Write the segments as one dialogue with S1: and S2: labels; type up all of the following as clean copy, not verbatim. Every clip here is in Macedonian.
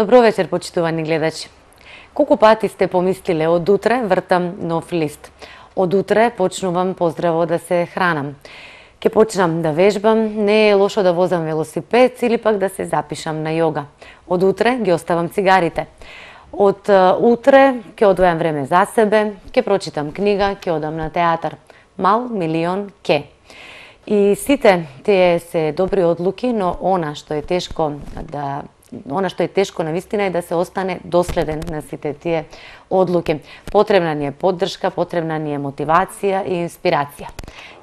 S1: Добро вечер, почитувани гледачи. Колку пати сте помислиле од утре вртам нов лист. Од утре почнувам поздраво да се хранам. Ке почнам да вежбам, не е лошо да возам велосипед или пак да се запишам на јога. Од утре ги оставам цигарите. Од утре ќе одвојам време за себе, ќе прочитам книга, ќе одам на театар. Мал милион ке. И сите тие се добри одлуки, но она што е тешко навистина е да се остане доследен на сите тие одлуки. Потребна ни е поддршка, потребна ни е мотивација и инспирација.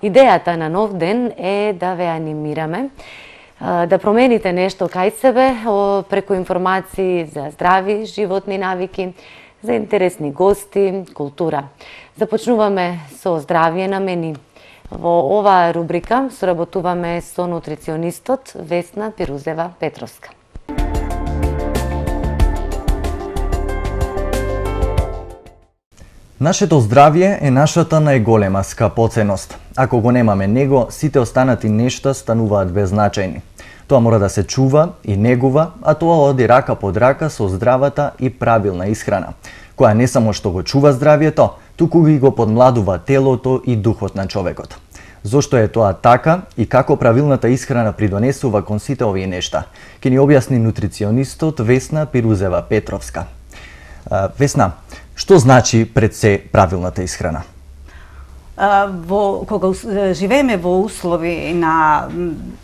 S1: Идејата на нов ден е да ве анимираме, да промените нешто кај себе преку информации за здрави животни навики, за интересни гости, култура. Започнуваме со здравје на мени. Во оваа рубрика соработуваме со нутриционистот Весна Пирузева-Петровска.
S2: Нашето здравје е нашата најголема скапоценност. Ако го немаме него, сите останати нешта стануваат беззначајни. Тоа мора да се чува и негува, а тоа оди рака под рака со здравата и правилна исхрана, која не само што го чува здравјето, туку ги го подмладува телото и духот на човекот. Зошто е тоа така и како правилната исхрана придонесува кон сите овие нешта, ќе ни објасни нутриционистот Весна Пирузева-Петровска. Весна, што значи пред се правилната исхрана?
S3: Кога живееме во услови на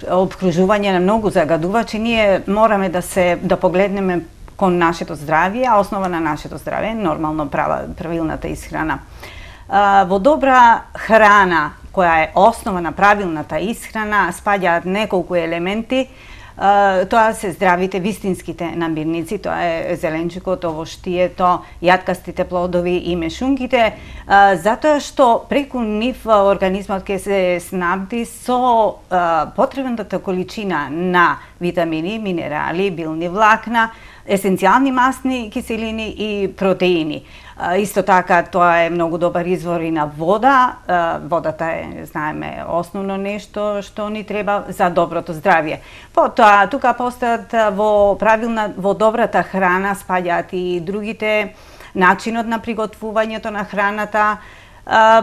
S3: обкружување на многу загадувачи, ние мораме да погледнеме кон нашето здравје, а основа на нашето здравје е нормално правилната исхрана. Во добра храна, која е основа на правилната исхрана, спаѓаат неколку елементи. Тоа се здравите вистинските намирници, тоа е зеленчукот, овоштието, јаткастите плодови и мешунките, затоа што преку нив организмот ќе се снабди со потребната количина на витамини, минерали, билни влакна, есенцијални масни киселини и протеини. Исто така, тоа е многу добар извор и на вода. Водата е, знаеме, основно нешто што ни треба за доброто здравје. Потоа, тука постаат во добрата храна спаѓаат и другите, начинот на приготвувањето на храната.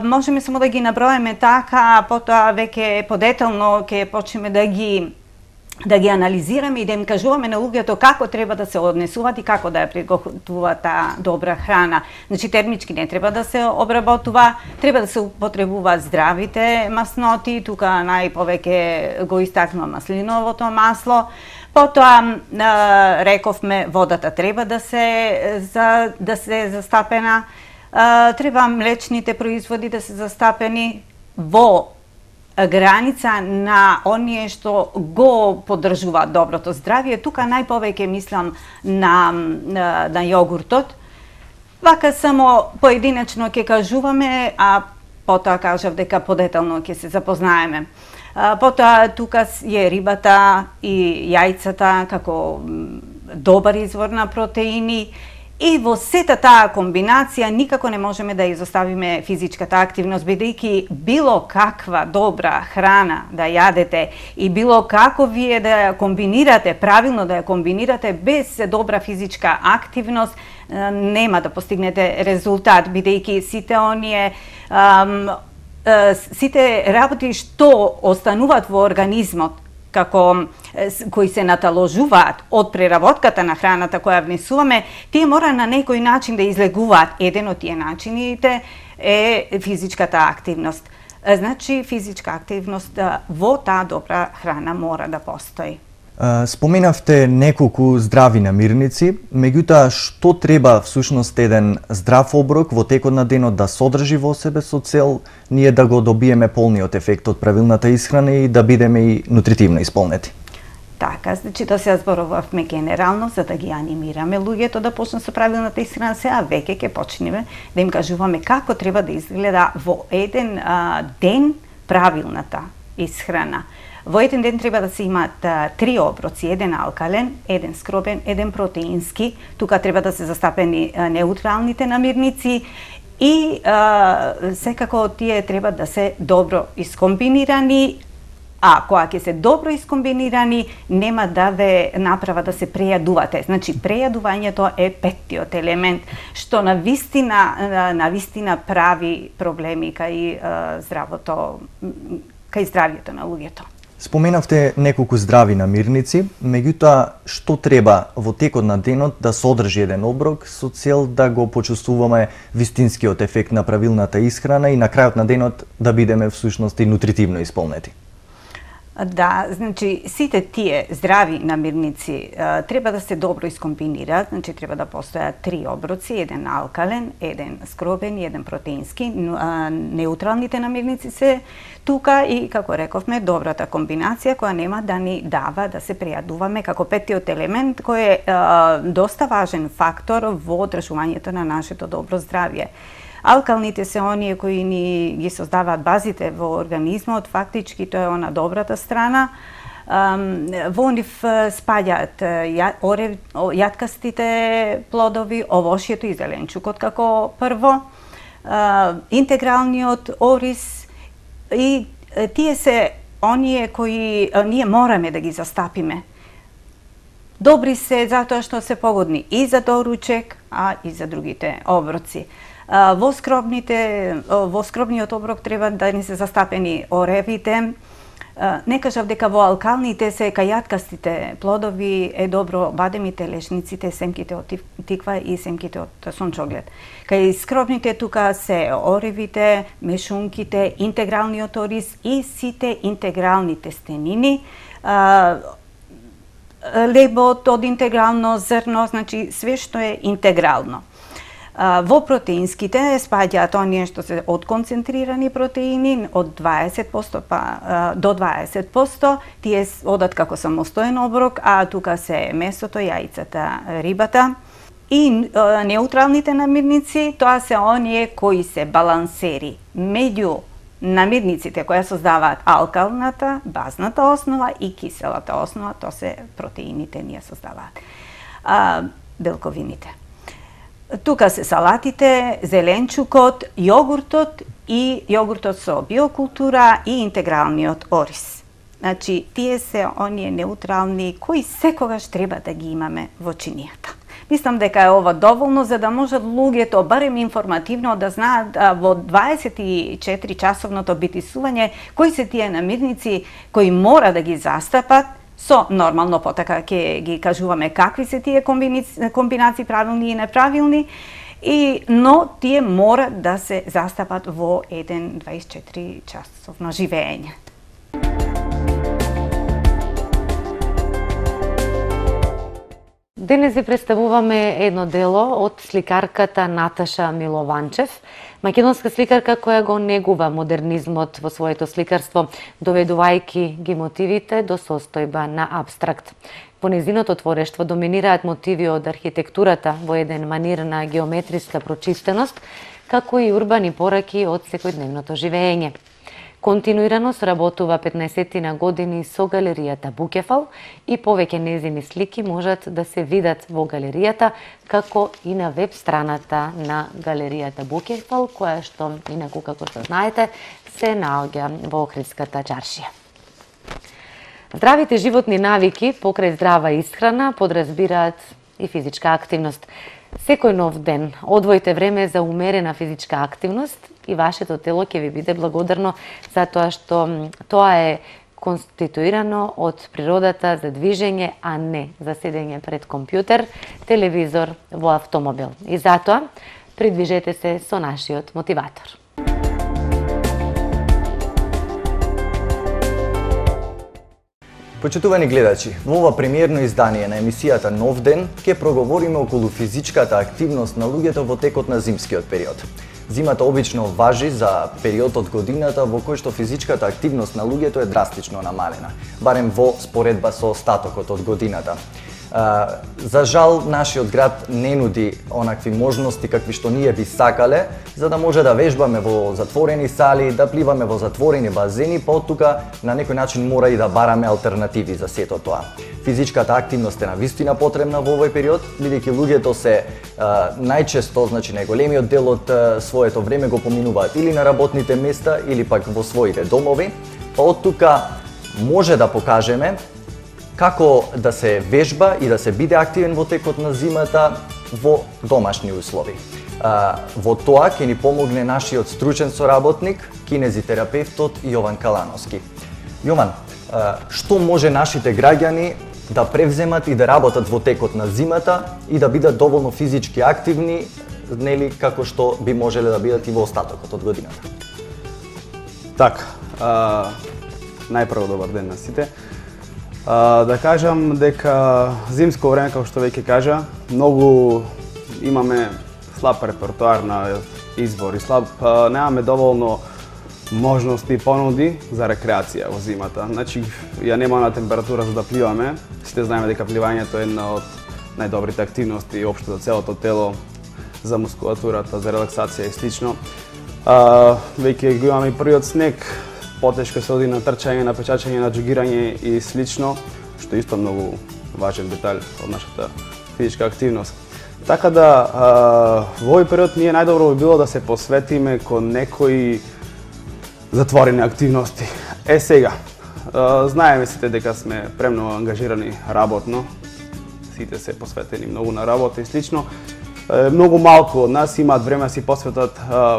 S3: Можеме само да ги наброиме така, потоа веќе подетелно ќе почнеме да ги анализираме и да им кажуваме на луѓето како треба да се однесуваат и како да ја приготвуваат таа добра храна. Значи, термички не треба да се обработува, треба да се употребуваат здравите масноти, тука најповеќе го истакнува маслиновото масло. Потоа, рековме, водата треба да се застапена, треба млечните производи да се застапени во граница на оние што го поддржуваат доброто здравје. Тука најповеќе мислам на јогуртот. Вака само поединечно ќе кажуваме, а потоа кажав дека подетално ќе се запознаеме. Потоа тука е рибата и јајцата како добар извор на протеини. И во сета таа комбинација никако не можеме да изоставиме физичката активност, бидејќи било каква добра храна да јадете и било како вие да ја комбинирате, правилно да ја комбинирате без добра физичка активност, нема да постигнете резултат, бидејќи сите работи што остануваат во организмот, кои се наталожуваат од преработката на храната која внесуваме, тие мора на некој начин да излегуваат. Еден од тие начините е физичката активност. Значи, физичка активност во таа добра храна мора да постои.
S2: Споменавте неколку здрави намирници, меѓутоа што треба всушност еден здрав оброк во текот на денот да содржи во себе со цел ние да го добиеме полниот ефект од правилната исхрана и да бидеме и нутритивно исполнети?
S3: Така, значи тоа се зборувавме генерално за да ги анимираме луѓето да почнат со правилната исхрана, сега веќе ќе почнеме да им кажуваме како треба да изгледа во еден ден правилната исхрана. Во еден ден треба да се имаат 3 оброци, еден алкален, еден скробен, еден протеински. Тука треба да се застапени неутралните намирници и секако тие треба да се добро искомбинирани, А кога ќе се добро искомбинирани, нема да ве направа да се прејадувате. Значи, прејадувањето е петтиот елемент, што на вистина прави проблеми кај здравјето на луѓето.
S2: Споменавте неколку здрави намирници, меѓутоа што треба во текот на денот да содржи еден оброк со цел да го почувствуваме вистинскиот ефект на правилната исхрана и на крајот на денот да бидеме всушност и нутритивно исполнети?
S3: Да, значи сите тие здрави намирници треба да се добро искомбинираат, значи треба да постојат 3 оброци, еден алкален, еден скробен и еден протеински. Неутралните намирници се тука и, како рековме, добрата комбинација која нема да ни дава да се прејадуваме како петтиот елемент кој е доста важен фактор во одржувањето на нашето добро здравје. Алкалните се оние кои ни ги создаваат базите во организмот, фактички тоа е она добрата страна. Во нив спаѓаат јаткастите плодови, овошјето и зеленчукот како прво, интегралниот ориз и тие се оние кои ние мораме да ги застапиме. Добри се затоа што се погодни и за доручек, а и за другите оброци. Во скробниот оброк треба да ни се застапени оревите. Не кажав дека во алкалните се кајаткастите плодови е добро бадемите, лешниците, семките од тиква и семките од сончоглед. Кај скробните тука се оревите, мешунките, интегралниот ориз и сите интегрални тестенини, лебот од интегрално зрно, значи све што е интегрално. Во протеинските спаѓаат оние што се отконцентрирани протеини од 20% до 20%, тие одат како самостоен оброк, а тука се месото, јајцата, рибата. И неутралните намирници, тоа се оние кои се балансери меѓу намирниците кои создаваат алкалната, базната основа и киселата основа, тоа се протеините ние создаваат. Белковините. Тука се салатите, зеленчукот, јогуртот и јогуртот со биокултура и интегралниот ориз. Значи, тие се оние неутрални кои секогаш треба да ги имаме во чинијата. Мислам дека е ова доволно за да можат луѓето барем информативно да знаат во 24 часовното битисување кои се тие намирници кои мора да ги застапат. Со нормално потака ќе ги кажуваме какви се тие комбинации правилни и неправилни, но тие мора да се застапат во еден 24 часовно живење.
S1: Денес ви представуваме едно дело од сликарката Наташа Милованчев, македонска сликарка која го негува модернизмот во своето сликарство, доведувајќи ги мотивите до состојба на абстракт. Во незиното творештво доминираат мотиви од архитектурата во еден манир на геометриска прочистеност, како и урбани пораки од секојдневното живење. Континуирано сработува 15 години со галеријата Букефал и повеќе незини слики можат да се видат во галеријата, како и на веб страната на галеријата Букефал, која што, инаку како што знаете, се наоѓа во Охридската чаршија. Здравите животни навики покрај здрава исхрана подразбираат и физичка активност. Секој нов ден одвојте време за умерена физичка активност и вашето тело ќе ви биде благодарно за тоа што тоа е конституирано од природата за движење, а не за седење пред компјутер, телевизор, во автомобил. И затоа придвижете се со нашиот мотиватор.
S2: Почитувани гледачи, во ова премиерно издание на емисијата Нов ден ќе проговориме околу физичката активност на луѓето во текот на зимскиот период. Зимата обично важи за период од годината во кој што физичката активност на луѓето е драстично намалена, барем во споредба со остатокот од годината. За жал, нашиот град не нуди онакви можности какви што ние би сакале, за да може да вежбаме во затворени сали, да пливаме во затворени базени, па од тука на некој начин мора и да бараме алтернативи за сето тоа. Физичката активност е навистина потребна во овој период, бидејќи луѓето се најчесто, значи најголемиот дел од своето време го поминуваат или на работните места, или пак во своите домови, па од тука може да покажеме како да се вежба и да се биде активен во текот на зимата во домашни услови. Во тоа ќе ни помогне нашиот стручен соработник, кинезитерапевтот Јован Калановски. Јован, што може нашите граѓани да превземат и да работат во текот на зимата и да бидат доволно физички активни, нели како што би можеле да бидат и во остатокот од годината?
S4: Така, најпрво добар ден на сите. Да кажам дека зимско време, како што веќе кажа, многу имаме слаб репертоар на избор и немаме доволно можности и понуди за рекреација во зимата. Значи, ја нема на температура за да пливаме. Сите знаеме дека пливањето е една од најдобрите активности општо за целото тело, за мускулатурата, за релаксација и слично. Веќе го имаме и првиот снег, потешко се оди на трчање, на печачање, на џогирање и слично, што исто многу важен детаљ од нашата физичка активност. Така да, во овој период ние најдобро би било да се посветиме кон некои затворени активности. Сега, знаеме сите дека сме премногу ангажирани работно, сите се посветени многу на работа и слично. Многу малку од нас имаат време да си посветат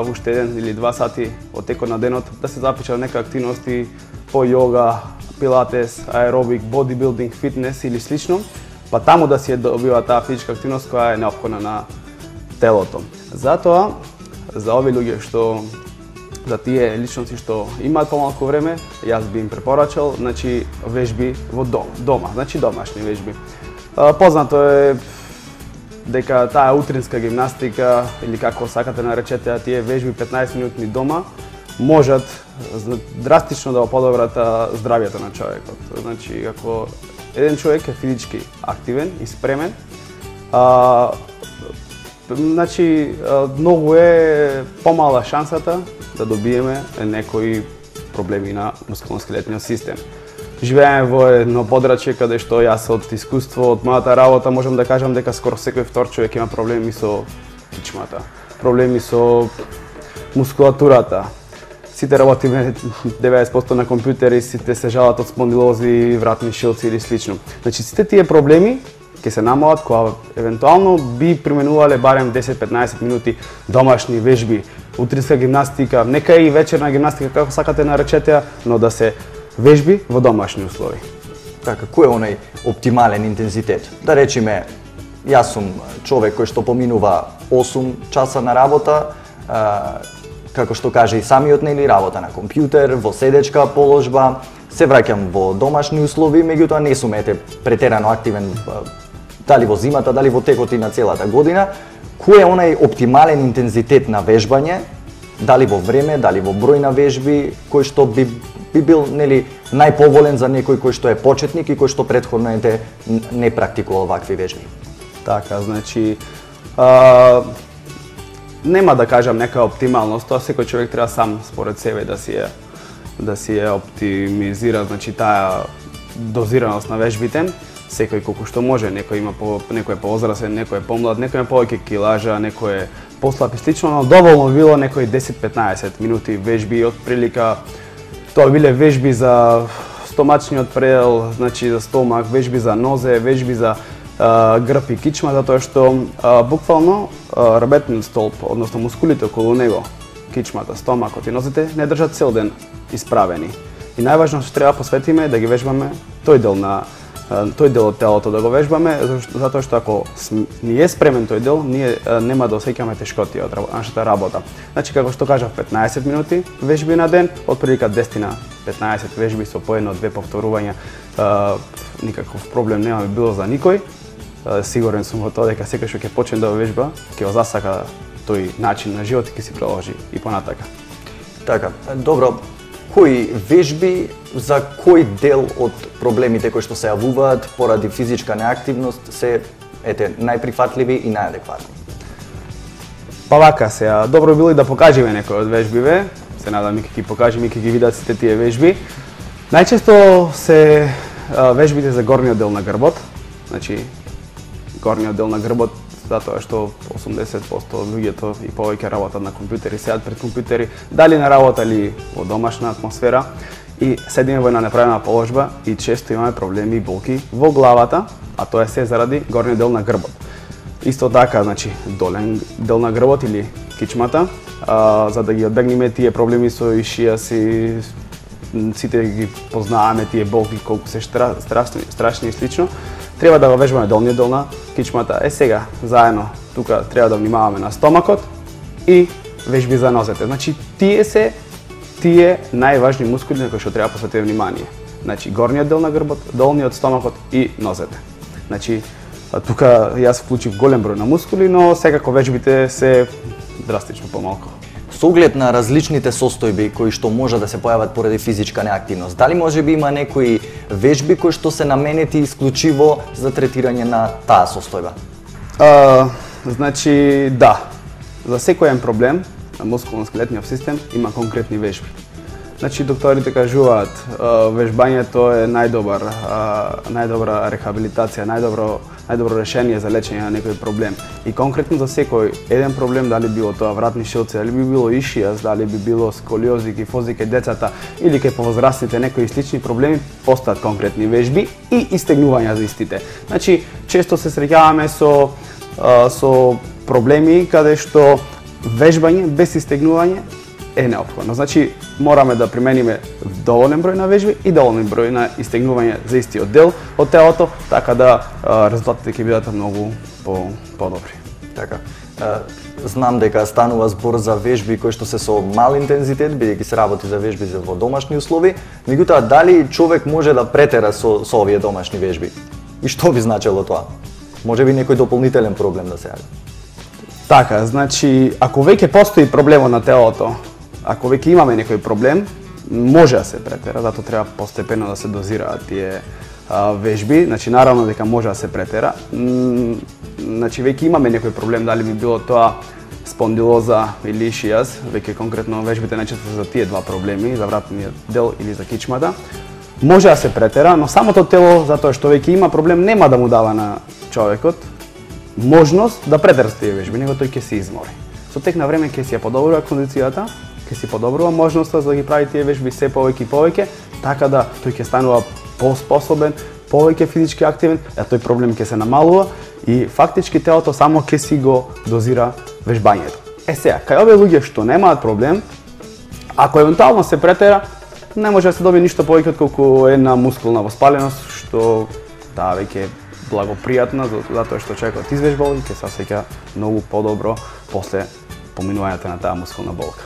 S4: уште 1 или 2 сати од текот на денот да се запишат некои активности по йога, пилатес, аеробик, бодибилдинг, фитнес или слично, па таму да си добива таа физичка активност која е неопходна на телото. Затоа, за овие луѓе за тие личности што имаат помалку време, јас би им препорачал, значи вежби во дома, значи домашни вежби. Познато е дека таа утринска гимнастика или како сакате наречете тие вежби 15 минутни дома можат драстично да го подобрат здравјето на човекот. Значи, ако еден човек е физички активен и спремен, значи многу е помала шансата да добиеме некои проблеми на мускулно-скелетниот систем. Живееме во едно подрачје каде што јас од искуство, од мојата работа можам да кажам дека скоро секој втор човек има проблеми со кичмата, проблеми со мускулатурата. Сите работиме 90% на компјутери, сите се жалат од спондилози, вратни шилци или слично. Значи сите тие проблеми ќе се намалат кога евентуално би применувале барем 10-15 минути домашни вежби, утринска гимнастика, нека и вечерна гимнастика како сакате наречете, но да се вежби во домашни услови.
S2: Така, кој е онај оптимален интензитет? Да речеме, јас сум човек кој што поминува 8 часа на работа, како што каже и самиот, нели, работа на компјутер, во седечка положба, се враќам во домашни услови, меѓутоа не сум претерано активен дали во зимата, дали во текот и на целата година. Кој е онај оптимален интензитет на вежбање, дали во време, дали во број на вежби, кој што би бил, нели, најповолен за некој кој што е почетник и кој што претходно не практикувал вакви вежби?
S4: Така, значи, нема да кажам нека оптималност, тоа секој човек треба сам според себе да си ја оптимизира, значи таа дозираност на вежбите. Секој колку што може, некој е поозрасен, некој е помлад, некој е повеќе килажа, некој е послаб и слично, но доволно било некои 10-15 минути вежби, од прилика тоа биле вежби за стомачниот предел, значи за стомак, вежби за нозе, вежби за грб и кичма, затоа што буквално рабетниот столб, односно мускулите околу него, кичмата, стомакот и нозете не држат цел ден исправени. И најважно што треба посветиме да ги вежбаме тој дел од телото да го вежбаме, затоа што ако не е спремен тој дел, ние нема да осеќаме тешкоти од нашата работа. Значи, како што кажав, 15 минути вежби на ден, од прилика 10 на 15 вежби со по 1-2 повторувања, никаков проблем нема било за никој. Сигурен сум во тоа дека секој што ќе почне да вежба, ќе го засака тој начин на живот и ќе си продолжи и понатака.
S2: Така, добро. Кои вежби за кој дел од проблемите кои што се јавуваат поради физичка неактивност се најприфатливи и најадекватни?
S4: Па вака се, добро било и да покажеме некои од вежбиве. Се надам и ќе ги покажеме и ќе ги видат сите тие вежби. Најчесто се вежбите за горниот дел на грбот. Значи, горниот дел на грбот, затоа што 80% од луѓето и повеќе работат на компјутери, седат пред компјутери, дали на работа или во домашна атмосфера. и седиме во една неправилна положба и често имаме проблеми и болки во главата, а тоа е се заради горниот дел на грбот. Исто така, значи, долен дел на грбот или кичмата, за да ги одбегнеме тие проблеми со ишијас и сите ги познаеме тие болки колку се страшни и слично, треба да го вежбаме долниот дел на кичмата. Сега, заедно, тука треба да внимаваме на стомакот и вежби за нозете. Значи, тие најважни мускули на кои што треба посветиме внимание. Значи, горниот дел на грбот, долниот, стомакот и нозете. Значи, тука јас вклучив голем број на мускули, но секако вежбите се драстично помалку.
S2: Со оглед на различните состојби кои што може да се појават поради физичка неактивност, дали може би има некои вежби кои што се наменети исклучиво за третирање на таа состојба?
S4: Значи, да. За секој проблем на мускулно-скелетниот систем има конкретни вежби. Значи, докторите кажуваат, вежбањето е најдобра рехабилитација, најдобро решение за лечење на некој проблем. И конкретно за секој еден проблем, дали било тоа вратни шилци, дали би било ишијас, дали би било сколиози, кифози кај децата или кај повозрастните некои слични проблеми, постојат конкретни вежби и истегнувања за истите. Значи, често се среќаваме со проблеми каде што вежбање без истегнување е неопходно. Значи, мораме да примениме доволен број на вежби и доволен број на истегнување за истиот дел од телото, така да резултатите ќе бидат многу подобри.
S2: Така. Знам дека станува збор за вежби кои што се со мал интензитет, бидејќи се работи за вежби во домашни услови, меѓутоа дали човек може да претера со овие домашни вежби? И што би значело тоа? Може би некој дополнителен проблем да се јави?
S4: Така, значи, ако веќе постои проблем на телото, ако веќе имаме некој проблем, може да се претера, затоа треба постепено да се дозираат тие вежби. Значи, наравно дека може да се претера. Значи, веќе имаме некој проблем, дали би било тоа спондилоза или ишијас, веќе конкретно вежбите најчесто за тие два проблеми, за вратниот дел или за кичмата. Може да се претера, но самото тело, затоа што веќе има проблем, нема да му дава на човекот можност да претера тие вежби, него тој ќе се измори. Со тек на време ќе си ја подобрува кондицијата, ќе си подобрува можноста за да ги прави тие вежби се повеќе и повеќе, така да тој ќе станува поспособен, повеќе физички активен, а тој проблем ќе се намалува и фактички телото само ќе си го дозира вежбањето. Сега, кај овие луѓе што немаат проблем, ако евентуално се претера, не може да се добие ништо повеќе отколку една мускулна воспаленост, што таа веќе е благопријатна, затоа што човекот извежбал и ќе се осеќа многу подобро после поминувањето на таа мускулна болка.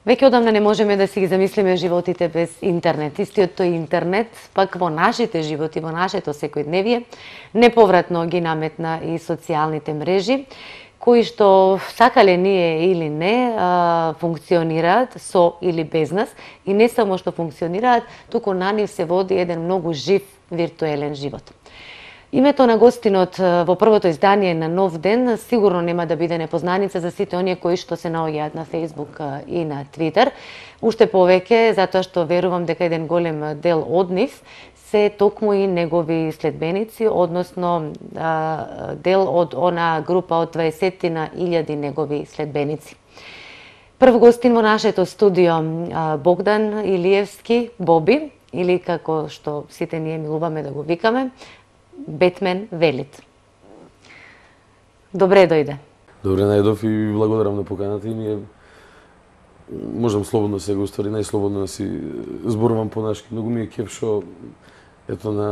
S1: Веќе одамна не можеме да си ги замислиме животите без интернет. Истиот тој интернет, пак во нашите животи, во нашето секојдневие, неповратно ги наметна и социјалните мрежи, кои што сакале ние или не функционираат со или без нас и не само што функционираат, туку на нив се води еден многу жив виртуелен живот. Името на гостинот во првото издание на Нов ден сигурно нема да биде непознаница за сите оние кои што се наоѓаат на Facebook и на Twitter. Уште повеќе затоа што верувам дека еден голем дел од нив се токму и негови следбеници, односно дел од она група од 20.000 негови следбеници. Прв гостин во нашето студио Богдан Илиевски, Боби, или како што сите ние милуваме да го викаме, Бетмен Велит. Добре дојде.
S5: Добре најдов и благодарам на поканата и ние можам слободно сега, устари најслободно да си зборувам по-нашки. Многу ми е кеф што ето на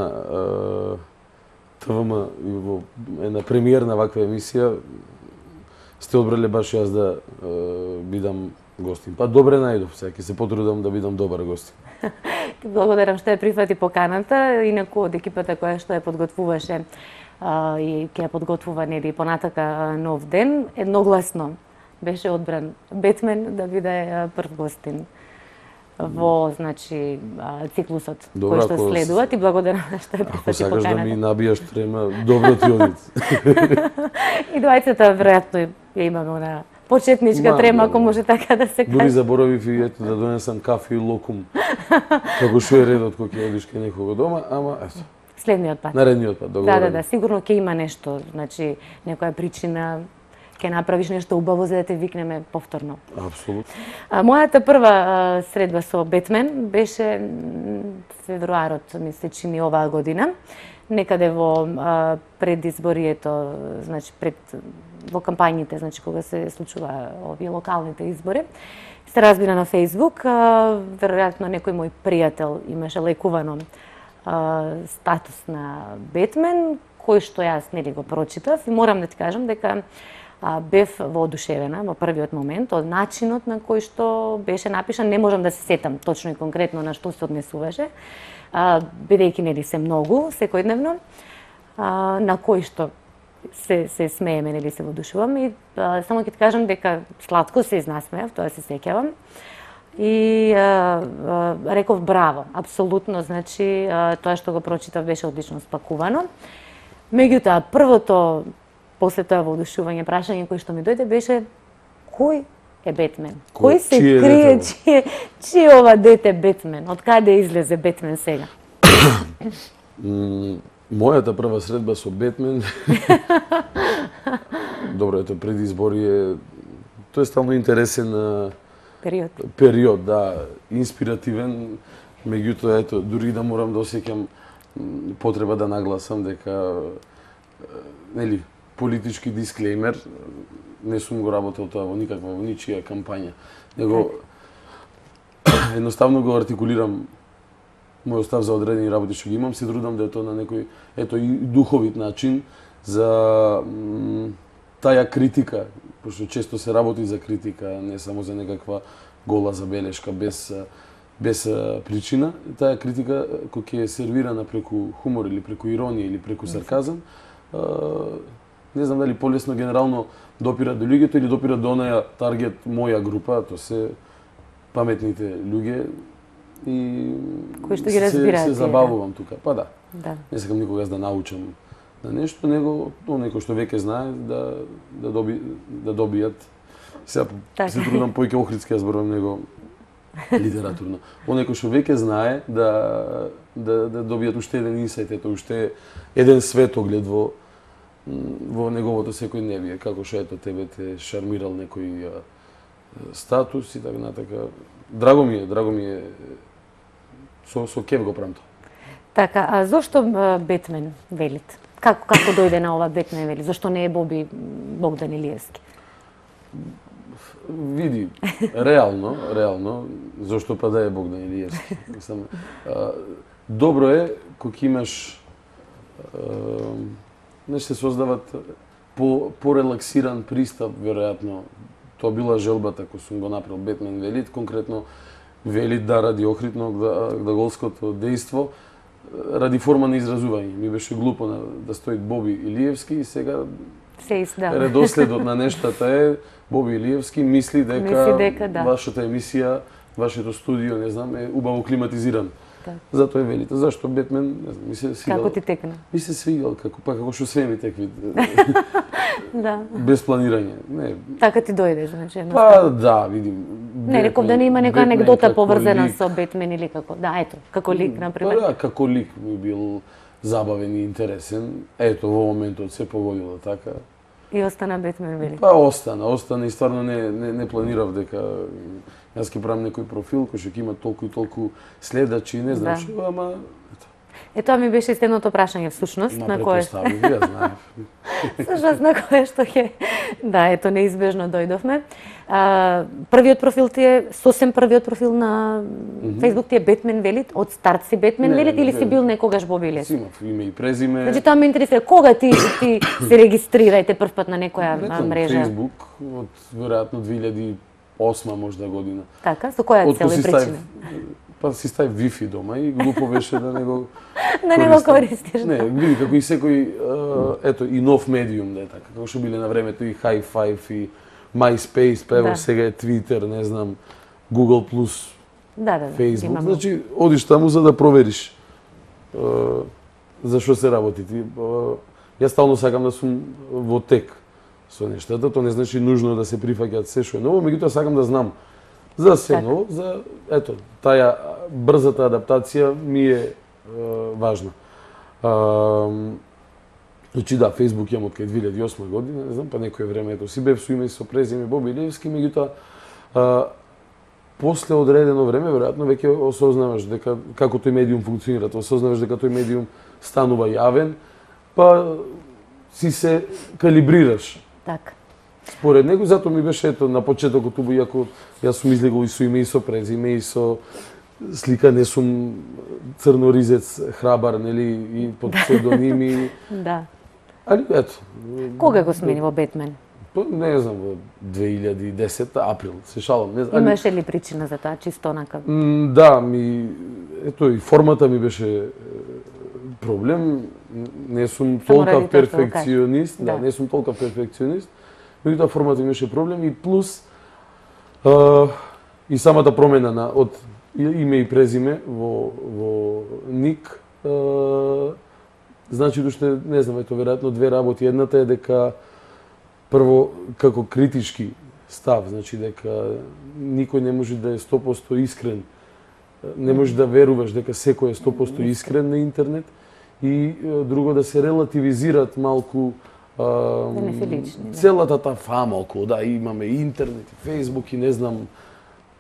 S5: ТВМ во една премиерна ваква емисија сте одбрале баш јас да бидам гостин. Па добре најдов, сега ќе се потрудам да бидам добар гостин.
S1: Благодарам што ја прифати поканата, инаку од екипата која што ја подготвуваше и ќе ја подготвува нели понатака Нов ден, едногласно беше одбран Бетмен да биде прв гостин во значи циклусот кој што следува. Ти благодарам што ја прифати поканата. Ако
S5: сакаш да ми набијаш трема, добро ти оди.
S1: И двајцата веројатно ја имаме на почетничка трема, ако може така да се каже.
S5: Дури заборавив и ето да донесам кафе и локум. Како што е редот кога ќе одиш кај некого дома, ама ето.
S1: Следниот пат.
S5: Наредниот пат, договорено.
S1: Да, сигурно ќе има нешто, значи некоја причина ќе направиш нешто убаво за да те викнеме повторно.
S5: Апсолутно.
S1: Мојата прва средба со Бетмен беше февруарот, ми се чини оваа година, некаде во предизборието, значи во кампањите, значи кога се случува овие локалните избори. Се разбира на Facebook, веројатно некој мој пријател имаше лекувано статус на Бетмен, кој што јас нели го прочитав и морам да ти кажам дека бев воодушевена во првиот момент од начинот на кој што беше напишан. Не можам да се сетам точно и конкретно на што се однесуваше, бидејќи нели се многу секојдневно, на кој што се смееме, нели се воодушувам и само ќе ти кажам дека сладко се изнасмеав, тоа се сеќавам. И реков браво, апсолутно, значи тоа што го прочитав беше одлично спакувано. Меѓутоа, првото после тоа воодушување прашање кој што ми дојде беше кој е Бетмен? Кој се крие, чие ова дете Бетмен? Од каде излезе Бетмен сега?
S5: Мојата прва средба со Бетмен добро, ето предизборие, тој е стално интересен период, да, инспиративен, меѓутоа ето дури да морам да осеќам потреба да нагласам дека нели политички дисклеймер, не сум го работел тоа во никаква, во ничија кампања, него едноставно го артикулирам мој став за одредени работи што ги имам, се трудам да е тоа на некој ето и духовит начин за таа критика, пошто често се работи за критика, не само за некаква гола забелешка без причина. Таа критика која ќе е сервирана преку хумор или преку иронија или преку сарказам, не знам дали полесно генерално допира до луѓето или допира до онаја таргет моја група, тоа се паметните луѓе и
S1: кои што ги разбираат.
S5: Се забавувам тука. Па да.
S1: Да.
S5: Не сакам никогаш да научам на нешто, него некој што веќе знае да добијат. Сега се трудам поиќе охридски ја зборувам него литературно. Некој што веќе знае да добијат уште еден инсайт, ето уште еден светоглед во неговото секојдневие, како што ето тебе те шармирал некој статус и така натака. Драго ми е со кеф го правам тоа.
S1: Така, а зошто Бетмен велит? Како дојде на ова Бетмен вели? Зошто не е Богдан Илиевски?
S5: Види, реално, зошто па да е Богдан Илиевски? Добро е кога имаш се создават порелаксиран пристап, веројатно. Тоа била желбата која сум го направил Бетмен велит, конкретно велит да ради охридно глаголското дејство, ради форма на изразување. Ми беше глупо да стои Боби Илиевски и сега редоследот на нештата е Боби Илиевски мисли дека вашата емисија, вашето студио, не знам, е убаво климатизиран. Затоа е велите. Зашто Бетмен, не знам, ми се свигал.
S1: Како ти текна?
S5: Ми се свигал, како што све ми текви.
S1: Да.
S5: Без планирање. Не.
S1: Така ти дојде, значи.
S5: Па да, видим.
S1: Не, реков да не има некоја анегдота поврзана со Бетмен или како. Да, ето, како лик, например.
S5: Па да, како лик ми бил забавен и интересен. Ето, во моментот се погодило така.
S1: И остана Бетмен вели.
S5: Па остана и стварно не планирав дека јас ќе правам некој профил кој ќе има толку и толку следачи, не знам што, ама
S1: тоа ми беше следното прашање всушност, на кое што
S5: ја знаев.
S1: Всушност на кое што ќе ето неизбежно дојдовме. Првиот профил ти е сосем првиот профил на Facebook ти е Бетмен велит, од старт си Бетмен велит или си бил некогаш Боби Илиевски?
S5: Имав име и презиме.
S1: Значи тоа ме интересира кога ти се регистрирајте првпат на некоја мрежа?
S5: Facebook од веројатно 2008 можда година.
S1: Така, со која цел и причина?
S5: Па си ставив Wi-Fi дома и глупо беше да не го
S1: користиш.
S5: Не, види како и секој ето и нов медиум да е така, како што биле на времето и High Five и MySpace, па ево сега е Twitter, не знам, Google+, Facebook. Значи, одиш таму за да провериш за што се работи. Јас стално сакам да сум во тек со нештата, тоа не значи нужно да се прифаќаат се што е ново, меѓутоа сакам да знам за се ново, за ето, таа брзата адаптација ми е важна. Значи да, Facebook имам од кај 2008 година, не знам, па некое време ето си бев со име и со презиме Боби Илиевски, меѓутоа после одредено време веројатно веќе осознаваш дека како тој медиум функционира, осознаваш дека тој медиум станува јавен, па си се калибрираш.
S1: Така.
S5: Според него, затоа ми беше ето на почетокот убаво, иако јас сум излегол и со име и со презиме и со слика, не сум црноризец храбар, нели, и под псевдоними.
S1: Да.
S5: Али ето.
S1: Кога го смени во Бетмен?
S5: Па не знам, во 2010 април, се шалам, не знам.
S1: Имаше ли причина за тоа, чисто онака?
S5: Да, ето и формата ми беше проблем. Не сум толка перфекционист, да, не сум толка перфекционист. Меѓутоа формата ми беше проблем и плюс и самата промена од име и презиме во ник, значи уште не знам, ето веројатно две работи. Едната е дека прво како критички став, значи дека никој не може да е 100% искрен. Не може да веруваш дека секој е 100% искрен на интернет и друго да се релативизираат малку целата таа фама околу, да, имаме интернет, Facebook и не знам,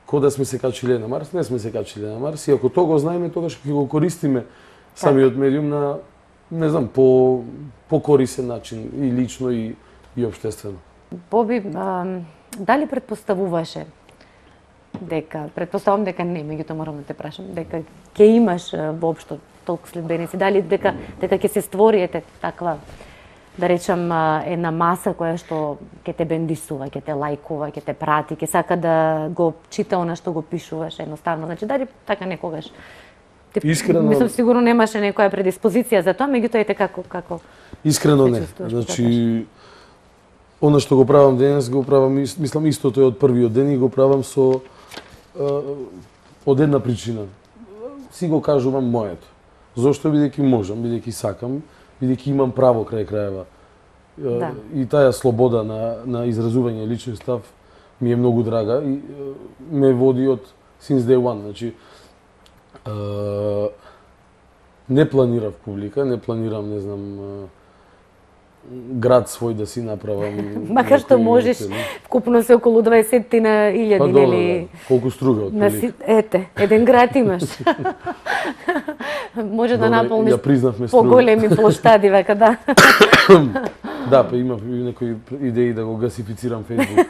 S5: кој да сме се качиле на Марс, не сме се качиле на Марс, и ако тоа го знаеме, тогаш ќе го користиме самиот медиум на, не знам, по корисен начин, и лично, и општествено.
S1: Боби, дали предпоставуваше дека, предпоставувам дека не, меѓутоа морам да те прашам, дека ќе имаш воопшто толку следбеници, дали дека ќе се створи таква, да речам, една маса која што ќе те бендисува, ќе те лајкува, ќе те прати, ќе сака да го чита она што го пишуваш едноставно. Значи, дали така некогаш?
S5: Искрено...
S1: Мислам, сигурно немаше некоја предиспозиција за тоа, меѓутоа ете како...
S5: Искрено не. Значи, она што го правам денес, го правам, мислам, истото е од првиот ден и го правам со... од една причина. Си го кажувам моето. Зошто? Бидејќи можам, бидејќи сакам, бидејќи имам право крај крајева. Да. И таа слобода на изразување личен став ми е многу драга и ме води од since day one. Значи, не планирав публика, не планирам, не знам, град свој да си направам.
S1: Макар што можеш, вкупно се околу 20.000,
S5: па,
S1: нели?
S5: Колку струга од публика.
S1: Ете, еден град имаш. Може да наполниш поголеми плоштади, века, да.
S5: Да, па имав некои идеи да го гасифицирам Facebook.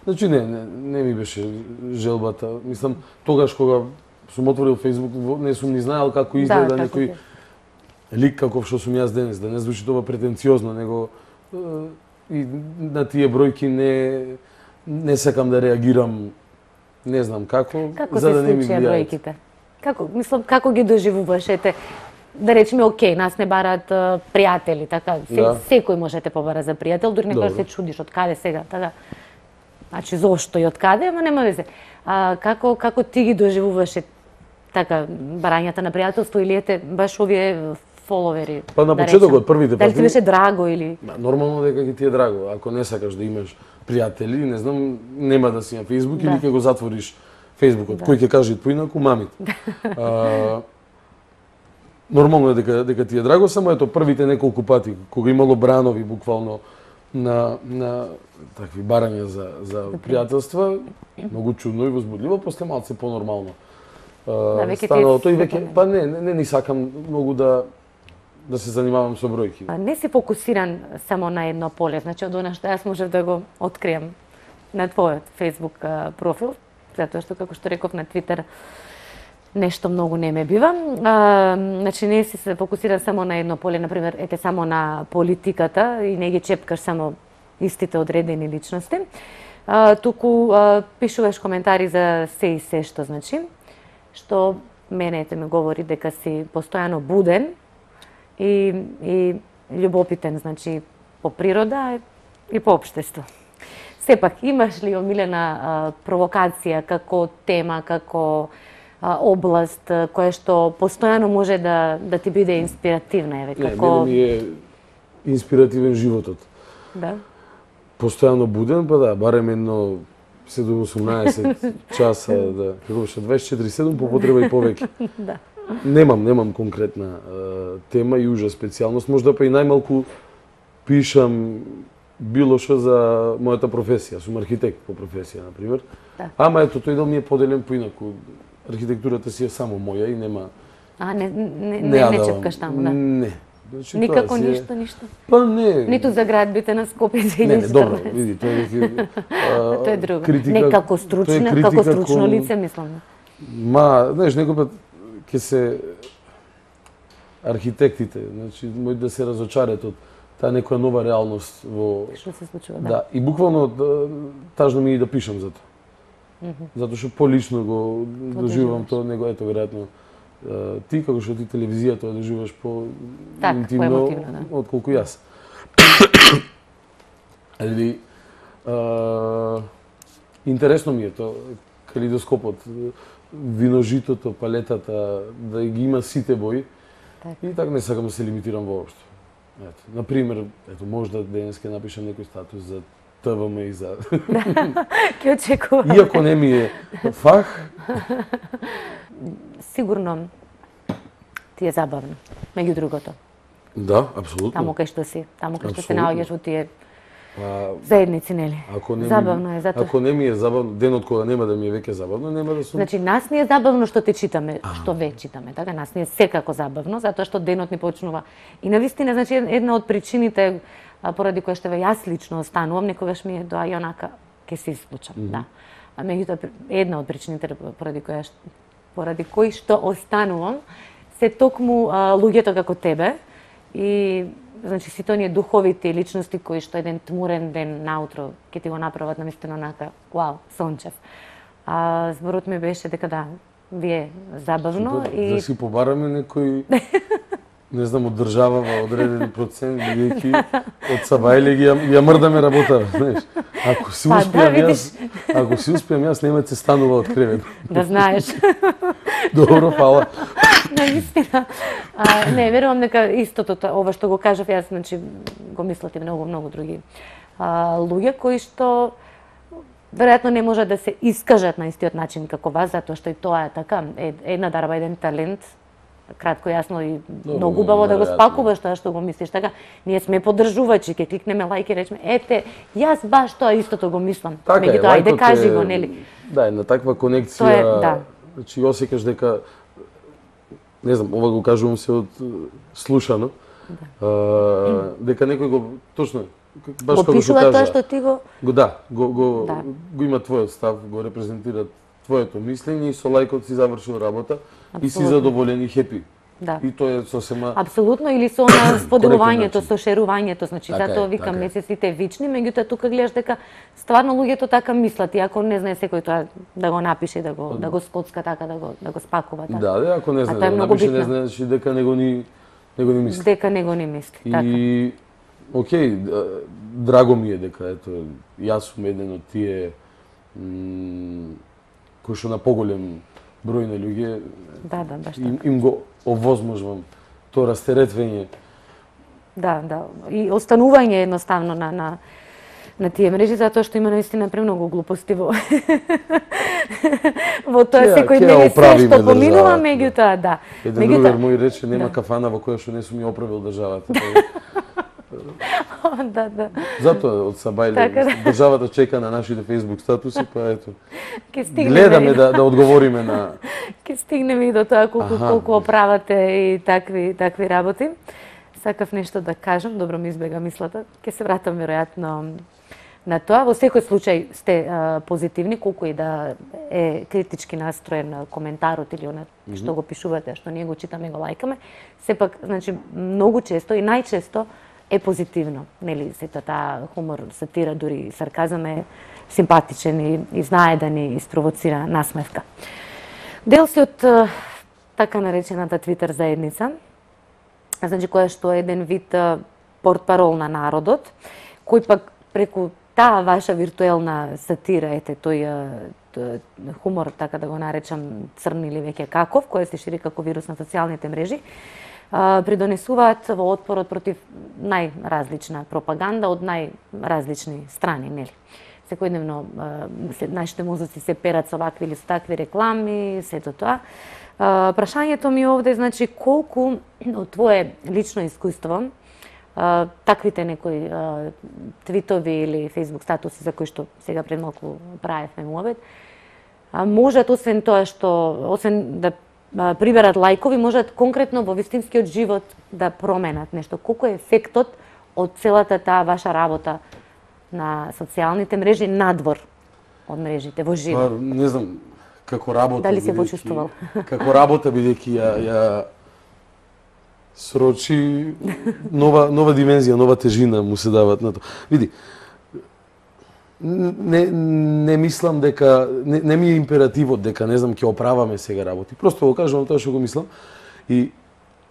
S5: Значи не ми беше желбата. Мислам, тогаш кога сум отворил Facebook, не сум ни знаел како изгледа некој лик каков што сум јас денес, да не звучи тоа претенциозно, него и на тие бројки не сакам да реагирам, не знам како за да не ми влијаат.
S1: Бројките? Мислам, како ги доживуваш? Ете, да речеме, окей, нас не бараат пријатели, така, секој може да те побара за пријател, дури некој се чудиш од каде сега, така. Значи, зошто и од каде, ама нема везе. Како ти ги доживуваше така барањата на пријателство или ете баш овие фоловери?
S5: Па на почетокот првите
S1: дали ти беше драго или?
S5: Нормално дека ќе ти е драго. Ако не сакаш да имаш пријатели, не знам, нема да си на Facebook или ќе го затвориш Фејсбукот. Кој ќе каже поинаку, мамите. Нормално е дека ти е драго, само ето првите неколку пати кога имало бранови буквално на такви барања за пријателства, многу чудно и возбудливо, после малце понормално. Станало тој веќе, па не ни сакам многу да се занимавам со бројки.
S1: Не си фокусиран само на едно поле, значи од она што јас можев да го открием на твојот Facebook профил, затоа што, како што реков, на Твитер нешто многу не ме бива. Значи не си се фокусиран само на едно поле, например, ете само на политиката и не ги чепкаш само истите одредени личности, туку пишуваш коментари за се и се што, значи, што мене ме говори дека си постојано буден и љубопитен, значи, по природа и по општество. Сепак, имаш ли омилена провокација како тема, како област која што постојано може да ти биде инспиративна?
S5: Мене ми е инспиративен животот.
S1: Да?
S5: Постојано буден, па да, барем едно 7-18 часа, да, како беше 24/7 по потреба и повеќе.
S1: Да.
S5: Немам конкретна тема и ужа специјалност, можда па и најмалку пишам било што за мојата професија. Сум архитект по професија, на пример.
S1: Да.
S5: Ама ето тој дел ми е поделен поинаку. Архитектурата си е само моја и нема.
S1: Не чепкаш таму, да.
S5: Не. Значи,
S1: Никако ништо.
S5: Па не.
S1: Ниту за градбите на Скопје за 2014.
S5: Не, добро, види, тоа е
S1: тоа е друго.
S5: критика,
S1: Не како стручно лице, мислам.
S5: Ма, знаеш, некој пат ќе се архитектите, значи, мој да се разочарат од таа некоја нова реалност во
S1: Што се случува, да.
S5: Да, и буквално тажно ми е и да пишам за тоа. Затоа што полично го доживувам тоа, него ето веројатно ти како што ти телевизија тоа доживуваш по интимно
S1: да.
S5: отколку јас. Али интересно ми е тоа калейдоскопот, виножитото, палетата, да ги има сите бои. И така не сакам да се лимитирам воопшто. Ето, на пример, ето можда денеска напишам некој статус за ТВМ и за
S1: Ќе очекувам.
S5: Иако не ми е фах,
S1: Сигурно ти е забавно, меѓу другото.
S5: да, апсолутно.
S1: Таму кај што си, таму кај што се
S5: Апсолутно.
S1: наоѓаш во тие
S5: Па,
S1: заедници, нели? Забавно е, затоа.
S5: Ако не ми е забавно, денот кога нема да ми е веќе забавно, нема да сум.
S1: Значи, нас ни е забавно што те читаме, што ве читаме, така? Нас ни е секако забавно, затоа што денот ни почнува. И навистина, значи, една од причините поради која што јас лично останувам, некогаш ми е доаѓа онака, ќе се исклучам, да. А меѓутоа, една од причините поради кои што останувам, се токму луѓето како тебе и значи сите оние духовити личности кои што еден тмурен ден наутро ќе ти го направат навистина онака, вау, сончев. Зборот ми беше дека да, вие забавно и
S5: Да си побараме некој не знам, од држава одреден процент, бидејќи од Сабајле ги ја мрдаме работа, знаеш. Ако си успеам јас, нема се станува од кревет.
S1: Да знаеш.
S5: Добро, фала.
S1: Наистина. Не, верувам дека истото ова што го кажав јас, значи го мислат и многу други луѓе кои што веројатно не можат да се искажат на истиот начин како вас, затоа што и тоа е така, една дарба, еден талент, кратко, јасно и многу убаво да го спакуваш тоа што го мислиш. Така, ние сме поддржувачи, ќе кликнеме лајк и речеме, ете, јас баш тоа истото го мислам.
S5: Така
S1: меѓутоа, ајде кажи го, нели?
S5: Да, една таква конекција, значи осекаш дека, не знам, ова го кажувам се од слушано, дека некој го, точно, баш како што кажа.
S1: Го тоа што ти го...
S5: Го има твојот став, го репрезентира твоето мислење и со лајкот си завршил работа. Абсолютно. И си задоволен и хепи.
S1: Да.
S5: И тоа е сосема...
S1: Апсолутно, или со споделувањето, со шерувањето, значи затоа викам
S5: така
S1: не се сите вични, меѓутоа тука гледаш дека стварно луѓето така мислат, иако не знае секој тоа да го напише, да го скоцка така, да го спакува така.
S5: Да, ако не знае да го напише, не знаеш дека него ни мисли.
S1: Дека него ни мисли, така.
S5: И окей, драго ми е дека ето јас сум еден од тие кои што на поголем број на луѓе
S1: баш така.
S5: Им го овозможувам тоа растеретвење.
S1: Да, и останување едноставно на тие мрежи, затоа што има наистина премногу глупости во тоа секојдневно се што поминува, меѓутоа, да.
S5: Еден другар мој рече, нема кафана во која што не сум ја оправил државата.
S1: Да.
S5: Затоа од Сабајле државата чека на нашите Facebook статуси, па ето.
S1: Гледаме
S5: да одговориме на...
S1: Ке стигнеме и до тоа колку оправате и такви работи. Сакав нешто да кажам, добро ми избега мислата. Ке се вратам веројатно на тоа. Во секој случај сте позитивни, колку и да е критички настроен коментарот или она што го пишувате, што ние го читаме и го лајкаме. Сепак, значи, многу често и најчесто е позитивно, нели, сета таа хумор, сатира, дури сарказам е симпатичен и знае да ни испровоцира насмевка. Дел си од така наречената Твитер заедница, значи која што е еден вид портпарол на народот, кој пак преку таа ваша виртуелна сатира, ете тој хумор, така да го наречам црн или веќе каков, кој се шири како вирус на социјалните мрежи, придонесуваат во отпорот против најразлична пропаганда од најразлични страни, нели? секојдневно нашите мозоци се перат со вакви или со такви реклами, сето тоа. Прашањето ми овде, значи, колку од твое лично искуство таквите некои твитови или фейсбук статуси за кои што сега пред малку правевме муабет, можат освен тоа освен да приберат лајкови, можат конкретно во вистинскиот живот да променат нешто. Колку е ефектот од целата таа ваша работа на социјалните мрежи надвор од мрежите во живот?
S5: Не знам како работа.
S1: Дали се почувствувал?
S5: Како работа бидејќи ја срочи нова димензија, нова тежина му се дават на тоа. Види, не мислам дека не ми е императивот дека не знам ќе оправаме сега работи. Просто го кажувам тоа што го мислам. И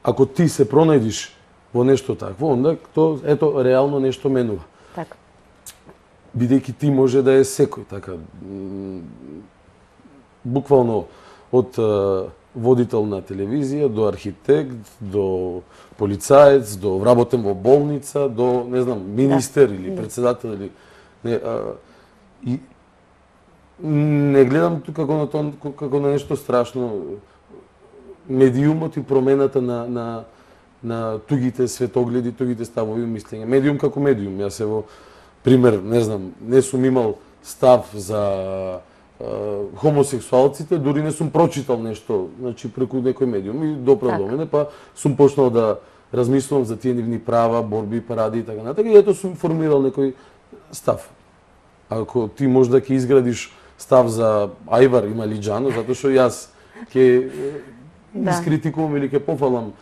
S5: ако ти се пронајдиш во нешто такво, онда тоа ето реално нешто менува.
S1: Така.
S5: Бидејќи ти може да е секој, така буквално од водител на телевизија до архитект, до полицаец, до вработен во болница, до не знам министер или председател или и не гледам како на тоа како на нешто страшно. Медиумот и промената на тугите светогледи, тугите ставови и мислења. Медиум како медиум. Јас во пример, не знам, не сум имал став за хомосексуалците, дури не сум прочитал нешто, значи преку некој медиум и доправ до мене, па сум почнал да размислувам за тие нивни права, борби, паради и така натака, и ето сум формирал некој став. Ако ти може да ќе изградиш став за Ајвар Ималиџано, затоа што јас ќе искритикувам или ќе пофалам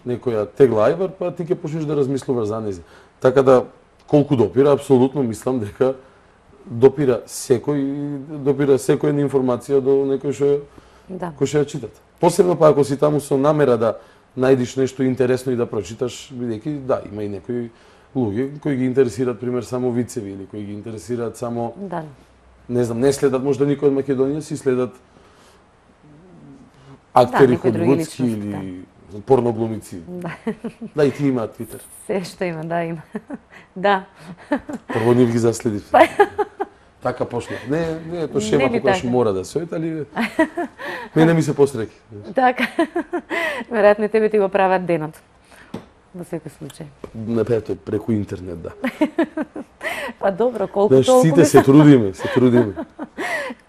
S5: некоја тегла Ајвар, па ти ќе почнеш да размислуваш за нејзе. Така да, колку допира, апсолутно мислам дека допира секоја информација до некој што кој ќе ја читат. Посебно па ако си таму со намера да најдиш нешто интересно и да прочиташ, бидејќи има и некои луѓе кои ги интересираат пример само вицеви или кои ги интересираат само не знам, не следат можда никој од Македонија, си следат актери холивудски или порноглумици. Да, и ти имаат Твитер.
S1: Се што има, има. Да.
S5: Прво нив ги заследив. Така почна. Не, тоа шема која мора да се ојде, али мене ми се посреќи.
S1: Така. Веројатно тебе ти го прават денот. Во секој случај.
S5: Не, тоа преку интернет, да.
S1: Па добро, колку толку...
S5: Сите се трудиме.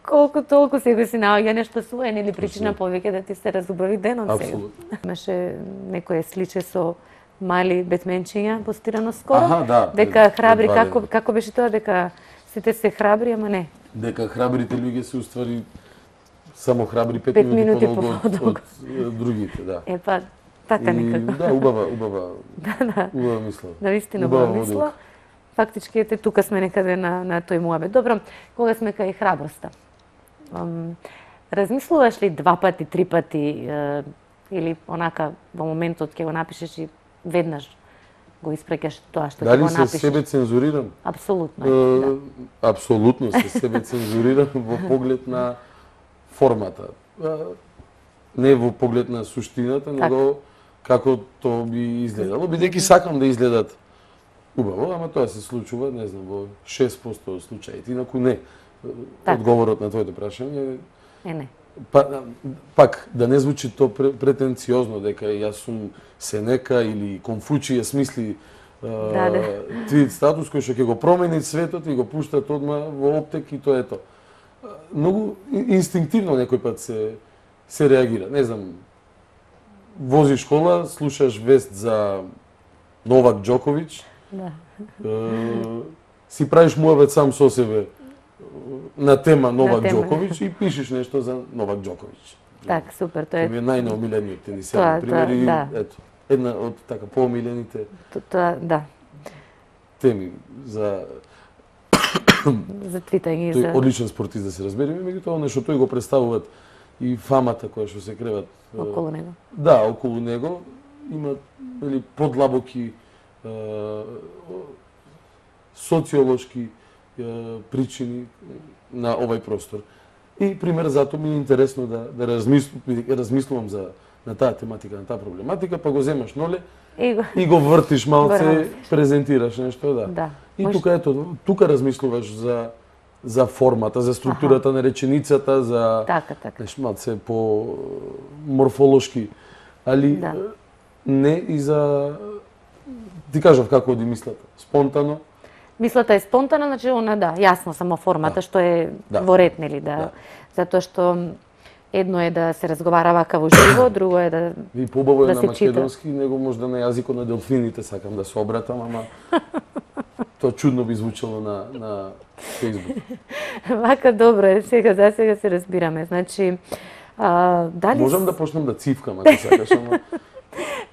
S1: Колку толку себе си наоѓа нешто своен или причина повеќе да ти се разубави денот сега.
S5: Апсолутно.
S1: Имаше некое сличе со мали бетменчиња постирано скоро.
S5: Аха, да.
S1: Дека храбри, како беше тоа, дека сите се храбри, ама не.
S5: Дека храбрите луѓе се уствари само храбри 5 минути по-долго од другите, да.
S1: Па, така некако.
S5: Да, убава мисла.
S1: Навистина убава мисла. Фактички ете тука сме некаде на тој муабет. Добро, кога сме кај храброста. Размислуваш ли 2 пати, 3 пати или онака во моментот ќе го напишеш и веднаш го испреќаш тоа што ќе го напишеш?
S5: Дали се себе цензурирам?
S1: Апсолутно.
S5: Апсолутно се себе цензурирам во поглед на формата. Не во поглед на суштината, него како тоа би изгледало, бидејќи сакам да изгледат убаво, ама тоа се случува, не знам, во 6% од случаите, инаку не. Одговорот на твоето прашање
S1: не.
S5: Пак, да не звучи тоа претенциозно, дека јас сум Сенека или Конфуција смисли твит статус кој што ќе го промени светот и го пуштат одма во оптек и тоа е тоа. Многу инстинктивно некој пат се реагира. Не знам, возиш кола, слушаш вест за Новак Џоковиќ, си правиш муабет сам со себе на тема Новак Џоковиќ и пишеш нешто за Новак Џоковиќ.
S1: Так, супер, тоа е.
S5: Тоа е најнаомилениот тенисијан, пример, и ето, една од така поомилените теми за
S1: твитање и
S5: тој
S1: за
S5: одличен спортист, да се разбереме, меѓутоа нешто тој го представуваат и фамата која што се креват
S1: околу него.
S5: Да, околу него има подлабоки социолошки причини на овај простор. И пример затоа ми е интересно да размислувам на таа тематика, на таа проблематика, па го земаш ноле и го вртиш малце, презентираш нешто, да. И тука размислуваш за формата, за структурата на реченицата, за
S1: Така.
S5: малце по морфолошки, али не и за ти кажав како оди мислата, спонтано.
S1: Мислата е спонтана, значи она јасно само формата што е во ред, нели, затоа што едно е да се разговара вака во живо, друго е да
S5: И побаво е
S1: да
S5: на македонски, него можда на јазикот на делфините сакам да се обратам, ама тоа чудно би звучало на Facebook.
S1: Вака добро е, за сега се разбираме. Значи, дали...
S5: Можам да почнем да цивкам, ако сакаш, ама...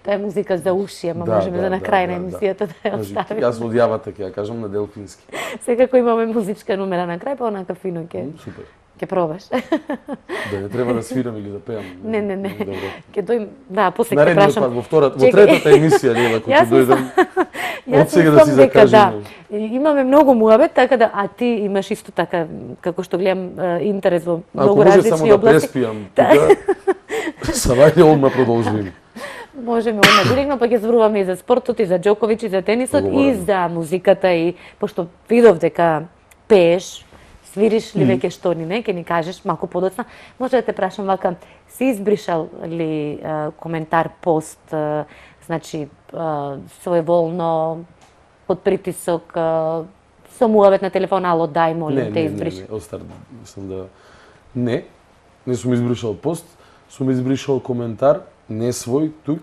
S1: Тоа е музика за уши, ама можеме за на крај на емисијата да ја оставиме.
S5: Јас од јавата ќе ја кажам на делфински.
S1: Секако имаме музичка номера на крај, па онака фино
S5: Супер.
S1: Ќе пробаш.
S5: Да не треба да свирам или да пеам.
S1: Не.
S5: Добро.
S1: Ќе дојм, после ќе
S5: Наредниот
S1: прашам.
S5: пат, во третата емисија, Лела, кога ќе дојдам. Од сега да си закажем.
S1: Имаме многу муабет, така да, а ти имаш исто така, како што гледам, интерес во многу различни области.
S5: Ако може само да преспијам, савајде одма продолжуваме.
S1: Можеме одма директно, па ќе зборуваме и за спортот, и за Џоковиќ, и за тенисот, и за музиката, и пошто видов дека пееш, свириш ли веќе што ни не, ќе ни кажеш малку подоцна. Може да те прашам вака, си избришал ли коментар, пост, значи своеволно, под притисок, со муавет на телефон, ало дај, молим те избриш?
S5: Не, остар, мислам да... Не сум избришал пост, сум избришал коментар, не свој, тук.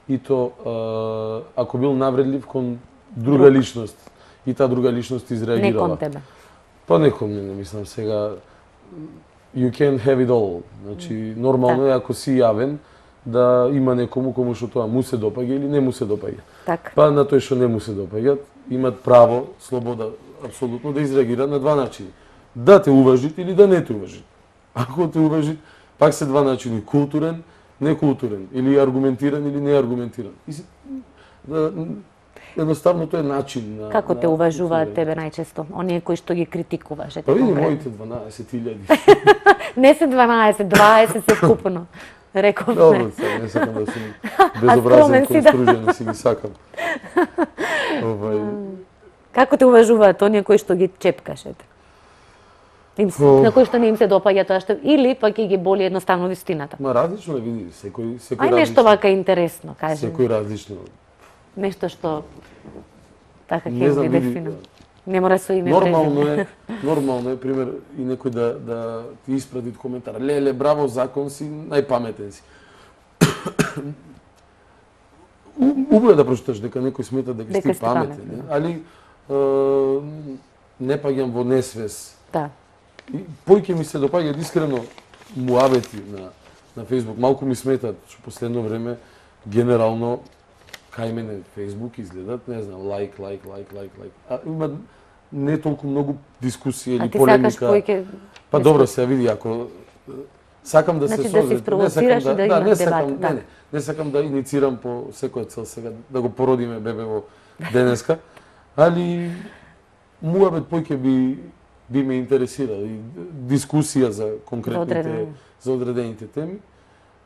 S5: И то, ако бил навредлив кон друга личност, и таа друга личност изреагирала.
S1: Не кон тебе.
S5: Па не кон мене, мислам, сега, you can have it all. Значи, нормално е ако си јавен, да има некому кому што тоа му се допаѓа или не му се допаѓа.
S1: Так.
S5: Па на тој што не му се допаѓа, имат право, слобода, апсолутно да изреагира на два начини. Да те уважит или да не те уважит. Ако те уважит, пак се два начини, културен, некултурен, или аргументиран или неаргументиран. Едноставно тоа е начин на...
S1: Како те уважуваат тебе најчесто? Оние кои што ги критикуваш?
S5: Па види моите 12.000.
S1: Не се 12, 20 се вкупно. Рековме.
S5: Добро, не сакам да сум безобразен кон стружен, си ги сакам.
S1: Како те уважуваат оние кои што ги чепкаш, ете? На кои што не им се допаѓа тоа што... Или пак ги боли едноставно вистината?
S5: Ма различно е, види, секој различно.
S1: Ај нешто вака интересно, кажем.
S5: Секој различно.
S1: Нешто што така ќе го дефинирам. Не мора со име.
S5: Нормално е, пример, и некој да ти испрати коментар. Леле, браво, закон си, најпаметен си. Убаво да прочиташ дека некој смета дека си паметен, али не паѓам во несвес.
S1: Да.
S5: Појќе ми се допаѓаат искрено муабети на Facebook. Малку ми сметат, што последно време генерално кај мене Facebook изгледат, не знам, лайк. А има не толку многу дискусија или полемика. А ти сакаш појќе... Па добро, се види, ако сакам да се
S1: созрет, да се спровоцираш и да има дебат.
S5: Не сакам да иницирам по секоја цел сега, да го породиме бебе во денеска, али муабет појќе би ме интересирал и дискусија за конкретните, за одредените теми,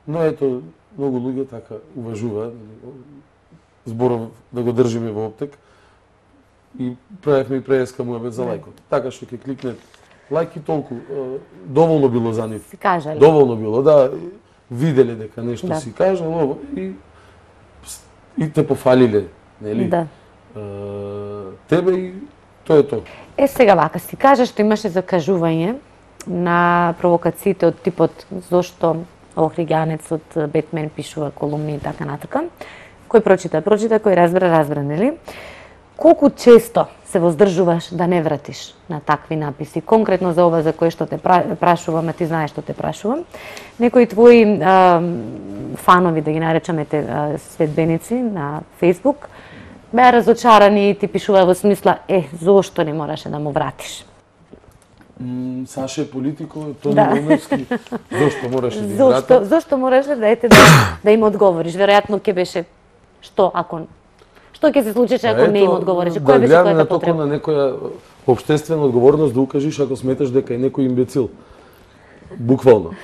S5: но ето, многу луѓе така уважуваат, зборов да го држиме во оптек и правевме и преска муабет за лајкот. Така што ќе кликнет лајк и толку, доволно било за нив.
S1: Си кажали.
S5: Доволно било, да, виделе дека нешто си кажал и те пофалиле, нели?
S1: Да.
S5: Тебе и тоа е тоа.
S1: Сега вака, си кажа што имаше закажување на провокациите од типот зошто Охриганецот, Бетмен пишува колумни и така натака. Кој прочита, кој разбра, нели? Колку често се воздржуваш да не вратиш на такви написи? Конкретно за ова за кој што те прашувам, ти знаеш што те прашувам. Некои твои фанови, да ги наречаме следбеници на Facebook, беа разочарани и ти пишува во смисла, зошто не мораше да му вратиш?
S5: Саше е политико, Тони Волневски, зошто мораше да вратиш?
S1: Зошто мораше да им одговориш? Веројатно ќе беше што ќе се случеше ако не им одговориш? Која беше твојата потреба?
S5: На некоја општествена одговорност да укажиш ако сметаш дека е некој имбецил. Буквално.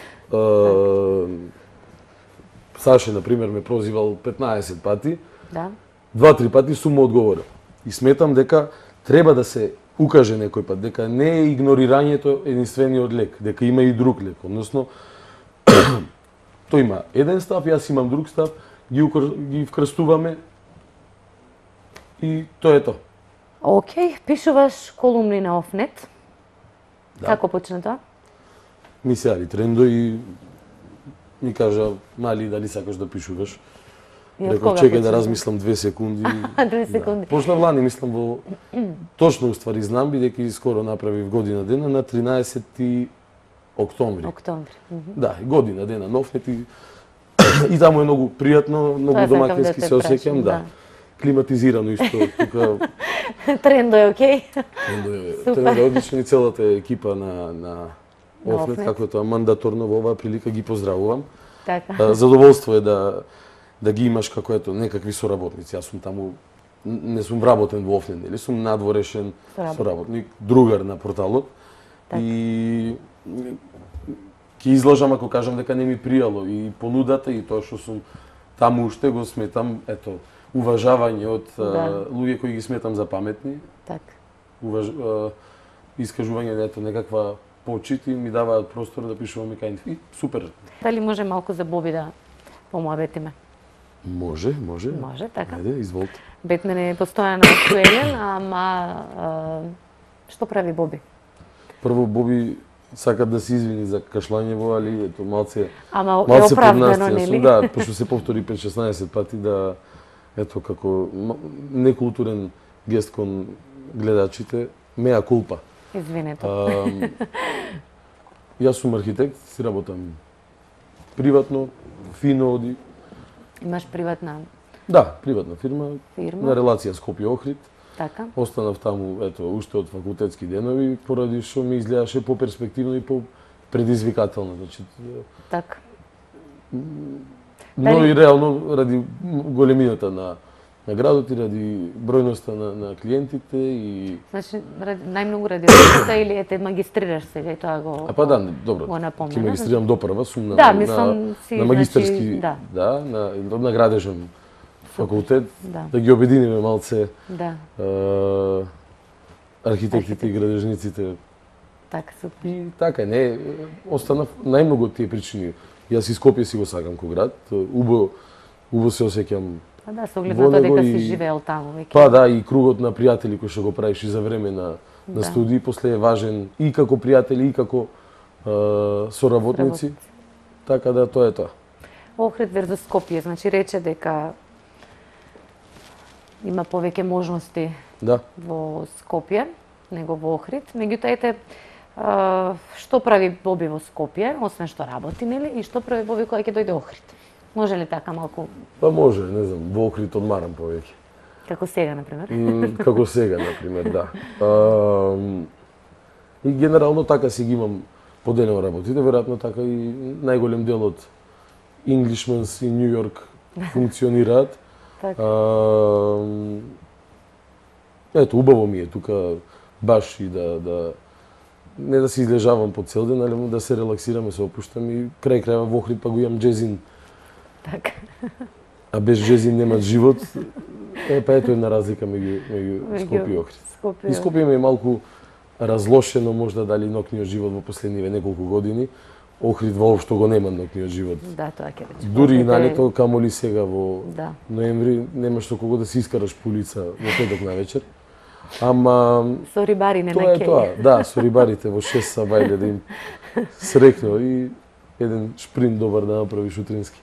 S5: Саше, например, ме прозивал 15 пати.
S1: Да.
S5: 2-3 пати сум му одговорил. И сметам дека треба да се укаже некој пат дека не е игнорирањето единствениот лек, дека има и друг лек, односно тој има еден став, јас имам друг став, ги вкрстуваме и тоа е тоа.
S1: Океј, пишуваш колумни на Офнет.
S5: Да.
S1: Како почна тоа?
S5: Ми се јави Трендо и ми кажа, мали, дали сакаш да пишуваш?
S1: И од
S5: Реков,
S1: кога
S5: чекај да
S1: почна?
S5: размислам 2 секунди.
S1: 2 секунди.
S5: Да. Почнав лани, мислам во точно уствари знам бидејќи скоро направив година дена на 13 октомври.
S1: Октомври.
S5: Да, година дена Нофнет и таму е многу пријатно, многу
S1: Тоа сакам
S5: домакински
S1: да те
S5: се осеќам,
S1: прашам,
S5: да. Климатизирано исто, тука
S1: Трендо е окей.
S5: Трендо е одличен и целата екипа на
S1: На
S5: Офнет,
S1: Офнет.
S5: како тоа мандаторно во оваа прилика ги поздравувам.
S1: Така.
S5: Задоволство е да ги имаш како ето некакви соработници. Јас сум таму не сум вработен во Офнет, нели сум надворешен соработник, другар на порталот.
S1: Така.
S5: И ќе изложам ако кажам дека не ми пријало и понудата и тоа што сум таму уште го сметам, ето, уважавање од луѓе кои ги сметам за паметни,
S1: Така.
S5: искажување на ето некаква почит и ми даваат простор да пишувам и кај нив. И супер.
S1: Дали може малку за Боби да помоабетиме?
S5: Може.
S1: Може, така.
S5: Ајде, изволте.
S1: Бетмен е постојано актуелен, ама што прави Боби?
S5: Прво Боби сака да се извини за кашлањево, али ето малце
S1: Ама е
S5: малце
S1: оправдано,
S5: поднастија
S1: нели?
S5: сум, да, пошто се повтори 5-16 пати да ето како некултурен гест кон гледачите, меа кулпа.
S1: Извинете.
S5: Јас сум архитект, си работам приватно, фино оди.
S1: Имаш приватна
S5: Да, приватна фирма,
S1: фирма,
S5: на релација Скопје-Охрид.
S1: така?
S5: Останав таму, ето, уште од факултетски денови, поради што ми изгледаше поперспективно и предизвикателно. Значи,
S1: Така.
S5: но и реално ради големината на градот и ради бројноста на клиентите и
S1: Значи, најмногу ради работата или ете магистрираш сега и тоа го...
S5: А па да, добро.
S1: Го напомена.
S5: Ќе магистрирам допрва, сум на
S1: Да, мислам си,
S5: на магистерски,
S1: значи,
S5: на градежен факултет,
S1: Да.
S5: ги обединиме малце
S1: Да,
S5: архитектите и градежниците.
S1: така супер.
S5: И така, не, останав најмногу од тие причини. Јас и Скопје си го сакам ко град, убаво се осеќам.
S1: А да, со оглед
S5: Во
S1: на тоа
S5: него
S1: дека
S5: и-
S1: си живеел таму веќе.
S5: Па да, и кругот на пријатели кои што го правиш и за време на студии, после е важен и како пријатели и како соработници. Така да, тоа е тоа.
S1: Охрид верзус Скопје, значи рече дека има повеќе можности
S5: Да.
S1: во Скопје него во Охрид. Меѓутоа ете што прави Боби во Скопје, освен што работи, нели, и што прави Боби кога ќе дојде Охрид? Може ли така малку
S5: Па може, не знам, во Охрид одмарам повеќе.
S1: како сега на пример?
S5: Како сега, например, да. И генерално така си ги имам поделено работите, веројатно така и најголем дел од Englishmans и Нью Йорк функционираат.
S1: Така.
S5: Ето, убаво ми е тука баш и да не да се излежавам по цел ден, али да се релаксирам, се опуштам и крај крајва во Охрид па го имам джезин.
S1: Така.
S5: А без джезин нема живот. Па ето една разлика меѓу Скопје и Охрид.
S1: Скопје.
S5: И Скопје ми е малку разлошено можда дали ноќниот живот во последниве неколку години. Охрид воопшто го нема ноќниот живот.
S1: Да, тоа ќе рече.
S5: Дури и
S1: Охрид е-
S5: на лето, камоли сега во
S1: Да.
S5: ноември, нема што кого да се искараш по улица во петок на вечер. Ама
S1: Со рибари не
S5: тоа
S1: на
S5: е тоа.
S1: кеј.
S5: Да, со рибарите во 6 са бајле да им срекно и еден шпринт добар да направиш утрински.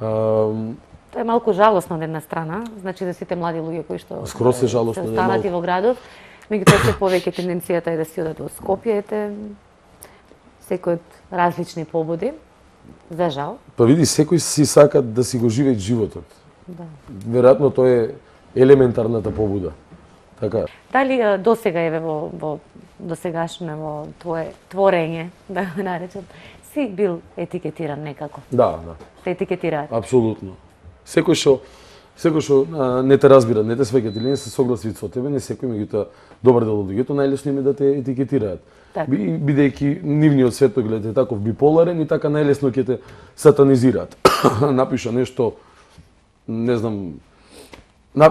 S1: Тоа е малку жалосно од една страна, значи за сите млади луѓе кои што
S5: Скоро се жалосно,
S1: се
S5: не
S1: останати
S5: малку.
S1: во градот, меѓутоа се повеќе тенденцијата е да си одат во Скопје, ете секој од различни побуди, за жал.
S5: Па види, секој си сака да си го живее животот.
S1: Да.
S5: Веројатно тоа е елементарната побуда. Така.
S1: Дали досега еве во досегашно во твое творење, да го наречам, си бил етикетиран некако?
S5: Да, да.
S1: Те етикетираат.
S5: Апсолутно. Секој што не те разбира, не те свеќат или не се согласи со тебе, не секој, меѓутоа добар дел од луѓето најлесно им е да те етикетираат.
S1: Така.
S5: Бидејќи нивниот светоглед е таков биполарен и така најлесно ќе те сатанизираат. Напиша нешто, не знам,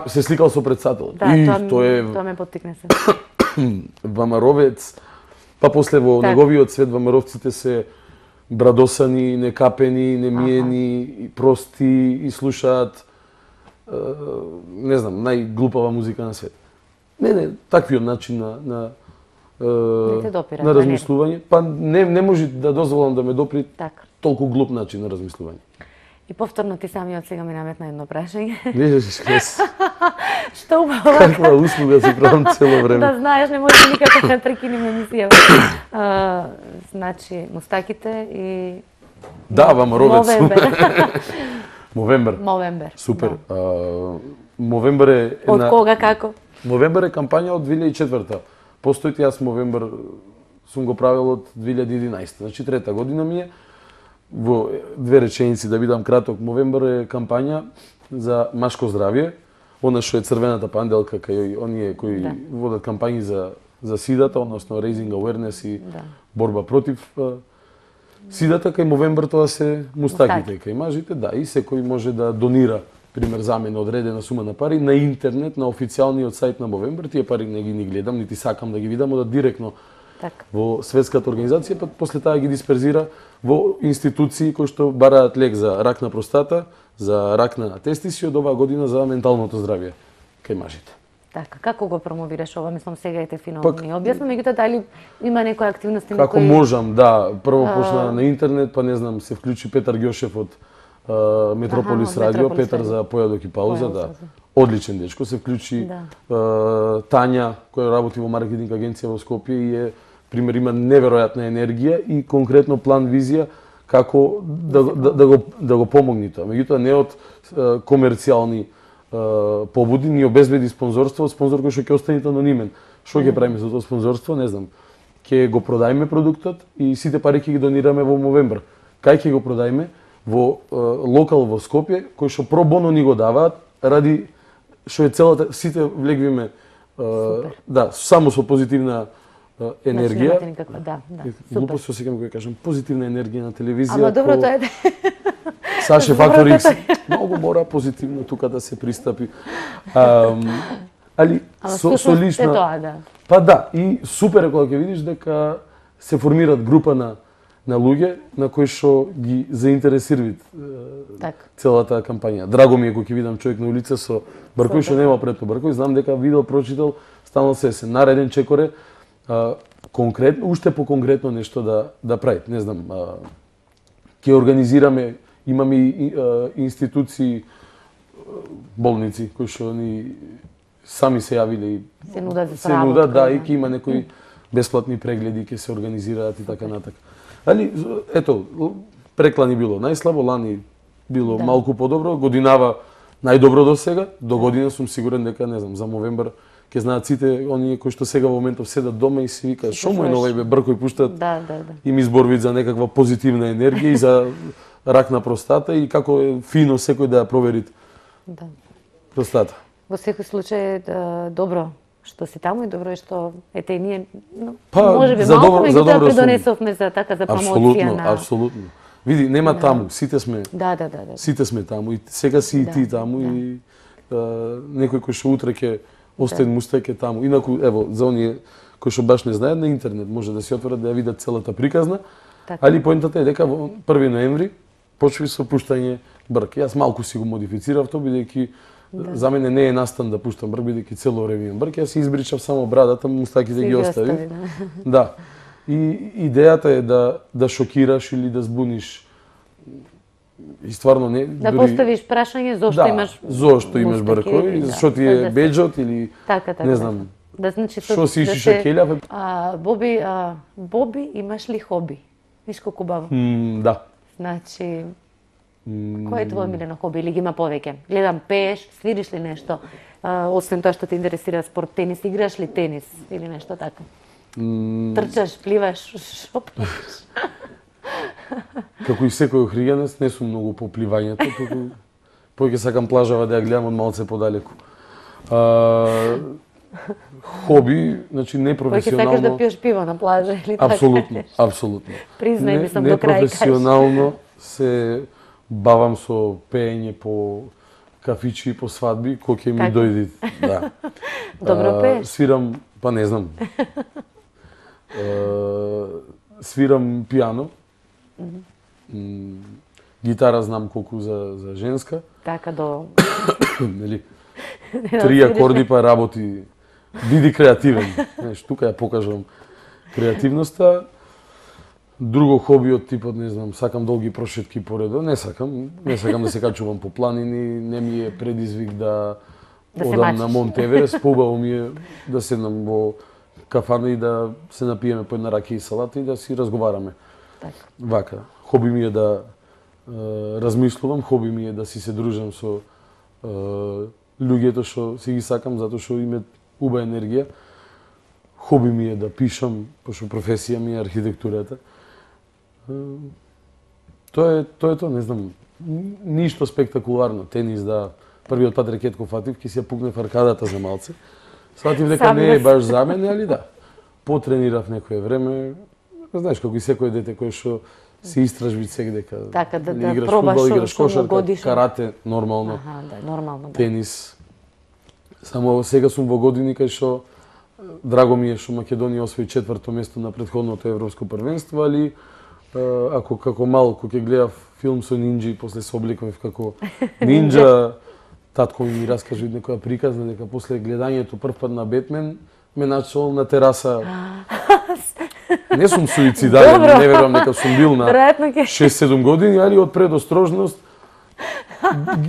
S5: се сликал со председател.
S1: Да,
S5: и
S1: тоа ме поттикне се.
S5: Вамаровец, па после во неговиот свет вамаровците се брадосани, некапени, немиени, прости и слушаат не знам, најглупава музика на свет. Не, таквиот начин на размислување, па не може да дозволам да ме допри толку глуп начин на размислување.
S1: И повторно ти самиот сега ми наметна едно прашање.
S5: Видиш,
S1: Што убаво.
S5: Каква услуга си правам цело време.
S1: Да знаеш, не може никако да прекинем емисијата. Значи, мустаките и...
S5: Да, Вамаровец. Мовембер. Супер. Мовембер е...
S1: Од кога, како?
S5: Мовембер е кампања од 2004-та. Постојте, јас Мовембер сум го правил од 2011. Значи, трета година ми е. Во две реченици да бидам краток, Мовембер е кампања за машко здравје. Она што е црвената панделка кај оние кои водат кампањи за сидата, односно raising awareness и борба против сидата, кај Мовембер тоа се мустаките, кај мажите, да, и секој може да донира, пример за мене, одредена сума на пари на интернет, на официјалниот сајт на Мовембер. Тие пари не ги гледам, нити сакам да ги видам, да директно во светската организација, па после таа ги дисперзира во институции кои што бараат лек за рак на простата, за рак на тестиси, од оваа година за менталното здравје кај мажите.
S1: Така, како го промовираш ова? Мислам, сега ете фино ми објасни, меѓутоа дали има некои активности?
S5: Како можам, да. Прво почна на интернет, па не знам, се вклучи Петар Ѓошев од Метрополис радио, Петар за појадок и пауза, да. Одличен дечко, се вклучи Тања, која работи во маркетинг агенција во Скопје и е пример, има неверојатна енергија и конкретно план визија како да го помогне тоа. Меѓутоа не од комерцијални побуди, ни обезбеди спонзорство, спонзор кој што ќе остане анонимен. Што ќе правиме за тоа спонзорство, не знам. Ќе го продајме продуктот и сите пари ќе ги донираме во Мовембер. Кај ќе го продајме? Во локал во Скопје, кој што про боно ни го даваат, ради што е целата, сите влегвиме само со позитивна енергија. Глупо се осеќам кога кажам позитивна енергија на телевизија.
S1: Ама добро тоа е.
S5: Саше Фактор X многу мора позитивно тука да се пристапи. Али со лична
S1: тоа, да.
S5: Па да, и супер е кога ќе видиш дека се формираат група на луѓе на кои што ги заинтересираат целата кампања. Драго ми е кога ќе видам човек на улица со бркој што нема пред бркој, знам дека видел, прочитал, стално се нареден чекоре, конкретно, уште по конкретно нешто да прави. Не знам, ќе организираме, имаме институции, болници кои што ни сами се јавиле и
S1: се
S5: нудат, да, и ќе има некои бесплатни прегледи, ќе се организираат и така натака. Али, ето, преклани било најслабо, лани било малку подобро, годинава најдобро до сега, до година сум сигурен дека, не знам, за Мовембер ќе знаат сите оние кои што сега во моментов седат дома и си викаат што му е новај бе бркој пуштат и ми зборвит за некаква позитивна енергија и за рак на простата и како е фино секој да ја провери простата.
S1: Во секој случај добро што си таму и добро е што ете ние
S5: можеби
S1: малку меѓутоа придонесовме за така за промоција на
S5: Апсолутно. Види, нема таму, сите сме.
S1: Да.
S5: Сите сме таму и сега си и ти таму и некој кој што утре ќе остане мустак е таму. Инаку ево за оние кои што баш не знаат на интернет може да се отворат да ја видат целата приказна. Али поентата е дека во 1 ноември почви со пуштање брк. Јас малку си го модифицирав тоа бидејќи за мене не е настан да пуштам брк, бидејќи цело време имам брк. Јас си избричав само брадата, мустаките ги оставив. Да. И идејата е да шокираш или да збуниш. И стварно не
S1: да поставиш прашање зошто имаш
S5: бркој, зашто ти е беџот или не знам.
S1: Да значи
S5: што си ишиш шакелја.
S1: Боби, имаш ли хоби? Виш колку баво.
S5: Да.
S1: Значи кој е твој милено хоби или ги има повеќе? Гледам, пееш, свириш ли нешто? Освен тоа што те интересира спорт, тенис, играш ли тенис или нешто така? Трчаш, пливаш, шо правиш?
S5: Како и секој охриганец, не сум многу по пливањето, туку повеќе сакам плажава да ја гледам од малце подалеку. Хоби, значи непрофесионално.
S1: Повеќе сакаш да пиеш пиво на плажа или така?
S5: Апсолутно.
S1: Признај ми сам до крај.
S5: Непрофесионално се бавам со пеење по кафичи по свадби, кој ќе ми
S1: Така.
S5: дојди. Да.
S1: Добро пееш.
S5: Свирам, па не знам. Свирам пијано. Гитара знам колку за женска.
S1: Така до
S5: Нели? 3 акорди па работи. Биди креативен. Знаеш, тука ја покажам креативноста. Друго хоби од типот, не знам, сакам долги прошетки поредо. Не сакам да се качувам по планини, не ми е предизвик да
S1: Да се
S5: одам
S1: мачиш.
S5: на Монт Еверест, побаво ми е да седнам во кафана и да се напиеме по една ракија и салата и да си разговараме.
S1: Така.
S5: Вака, хоби ми е да размислувам, хоби ми е да си се дружам со луѓето што си ги сакам, затоа што имаат убава енергија. Хоби ми е да пишам, пошто професија ми е архитектурата. Тоа е, не знам, ништо спектакуларно. Тенис, да, првиот пат рекет кој фатив, ќе си ја пукнев аркадата за малце. Сватив дека
S1: Сам
S5: не е
S1: не
S5: баш за мене, али да. Потренирав некое време, знаеш, како и секој дете кој што се истражби секој дека
S1: Така, да
S5: играш
S1: пробаш
S5: фудбал,
S1: што-
S5: играш
S1: што му
S5: кошарка,
S1: годиш.
S5: карате, нормално,
S1: Аха, да, нормално, да.
S5: тенис. Само сега сум во години кај што драго ми е што Македонија освои 4-то место на претходното европско првенство, али ако како мал кога ќе гледав филм со нинџи, после се обликував како нинџа, татко ми раскажа некоја приказна дека после гледањето прв пат на Бетмен ме начал на тераса. Не сум суицидален,
S1: Добро.
S5: не верувам дека сум бил на
S1: Веројатно ќе
S5: 6-7 години, али од предострожност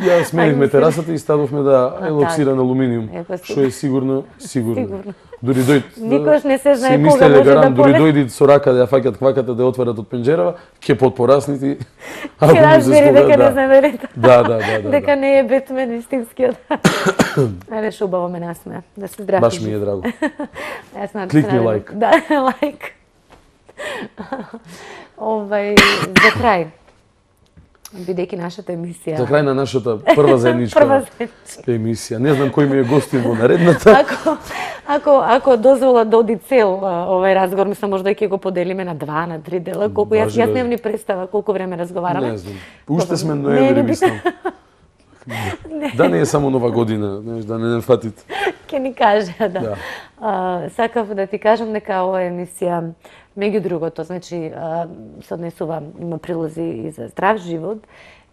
S5: ја сменивме терасата и ставовме да елоксиран алуминиум,
S1: Па
S5: што е сигурно.
S1: Сигурно.
S5: Дури дојд.
S1: Никош не се знае
S5: си
S1: кога
S5: мислеле
S1: може
S5: гарант,
S1: да
S5: дури
S1: поле.
S5: дојди со рака да ја фаќат кваката да ја отворат од пенџерава, ќе подпораснити.
S1: Ќе разбери дека не знаверите.
S5: Да.
S1: Дека не е Бетмен истинскиот. Ајде, што убаво ме насмеа. Да се здрави.
S5: Баш ми е драго.
S1: Јас на
S5: Кликни
S1: страна-
S5: лайк.
S1: Да, лайк. За крај, бидејќи нашата емисија...
S5: За крај на нашата прва заедничка
S1: Прва заедничка.
S5: емисија. Не знам кој ми е гостин во наредната.
S1: Ако дозвола да оди цел овај разговор, мислам можда и ќе го поделиме на 2, на 3 дела, колку јас
S5: Важи.
S1: немам ни представа колку време разговараме.
S5: Не знам. Уште сме
S1: Не,
S5: ноември,
S1: не
S5: мислам. Да не е само нова година, знаеш, да не фатите.
S1: Ќе ни каже, да.
S5: Да.
S1: Сакав да ти кажам дека оваа емисија, меѓу другото, значи, се однесува, има прилози и за здрав живот,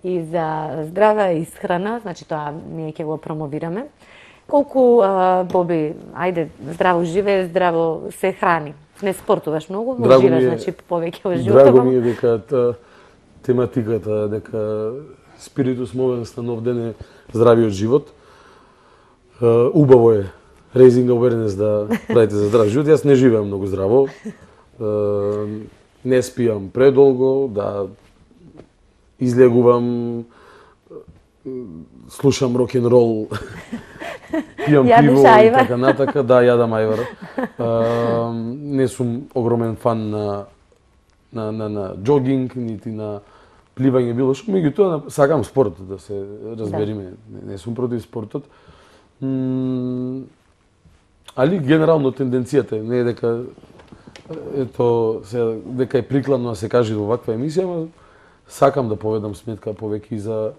S1: и за здрава исхрана, значи тоа ние ќе го промовираме. Колку, Боби, ајде, здраво живее, здраво се храни. Не спортуваш многу, но
S5: Драго ми
S1: живееш,
S5: е-
S1: значи, повеќе во животот.
S5: Драго ми е дека тематиката, дека спиритус movens на нов ден е здравиот живот. Убаво е raising awareness да правите за здрав живот. Јас не живеам многу здраво. Не спијам предолго, да излегувам, слушам рок-н-рол, пијам
S1: Јадеш
S5: пиво и
S1: ајвар.
S5: така натака, да, јадам ајвар. Не сум огромен фан на џогинг, нити на пливање, било што, меѓутоа сакам спортот, да се разбериме, не сум против спортот. Али генерално тенденцијата е, не е дека дека е прикладно да се каже во ваква емисија, ама сакам да поведам сметка повеќе и за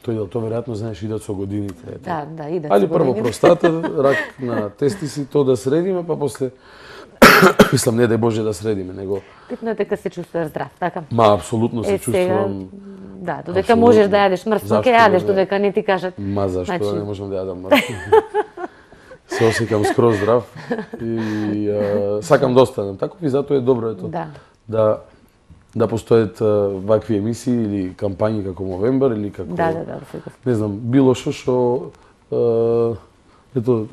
S5: тој дел, тоа веројатно знаеш идат со годините. ето.
S1: Да, идат
S5: Али
S1: со
S5: прво
S1: годините.
S5: простата, рак на тестиси, тоа да средиме, па после мислам не дај Боже да средиме, него
S1: Битно е дека се чувствуваш здрав, така?
S5: ма апсолутно се
S1: Сега,
S5: чувствувам.
S1: да, додека
S5: Апсолутно.
S1: можеш да јадеш мртво,
S5: Зашто
S1: ќе јадеш,
S5: да?
S1: додека не ти кажат.
S5: Ма зашто
S1: Значи-
S5: да не можам да јадам мртво? Се осеќам скроз здрав и сакам да останам таков и затоа е добро ето
S1: Да.
S5: да постојат вакви емисии или кампањи како Мовембар или како
S1: Да, секогаш.
S5: не знам, било што ето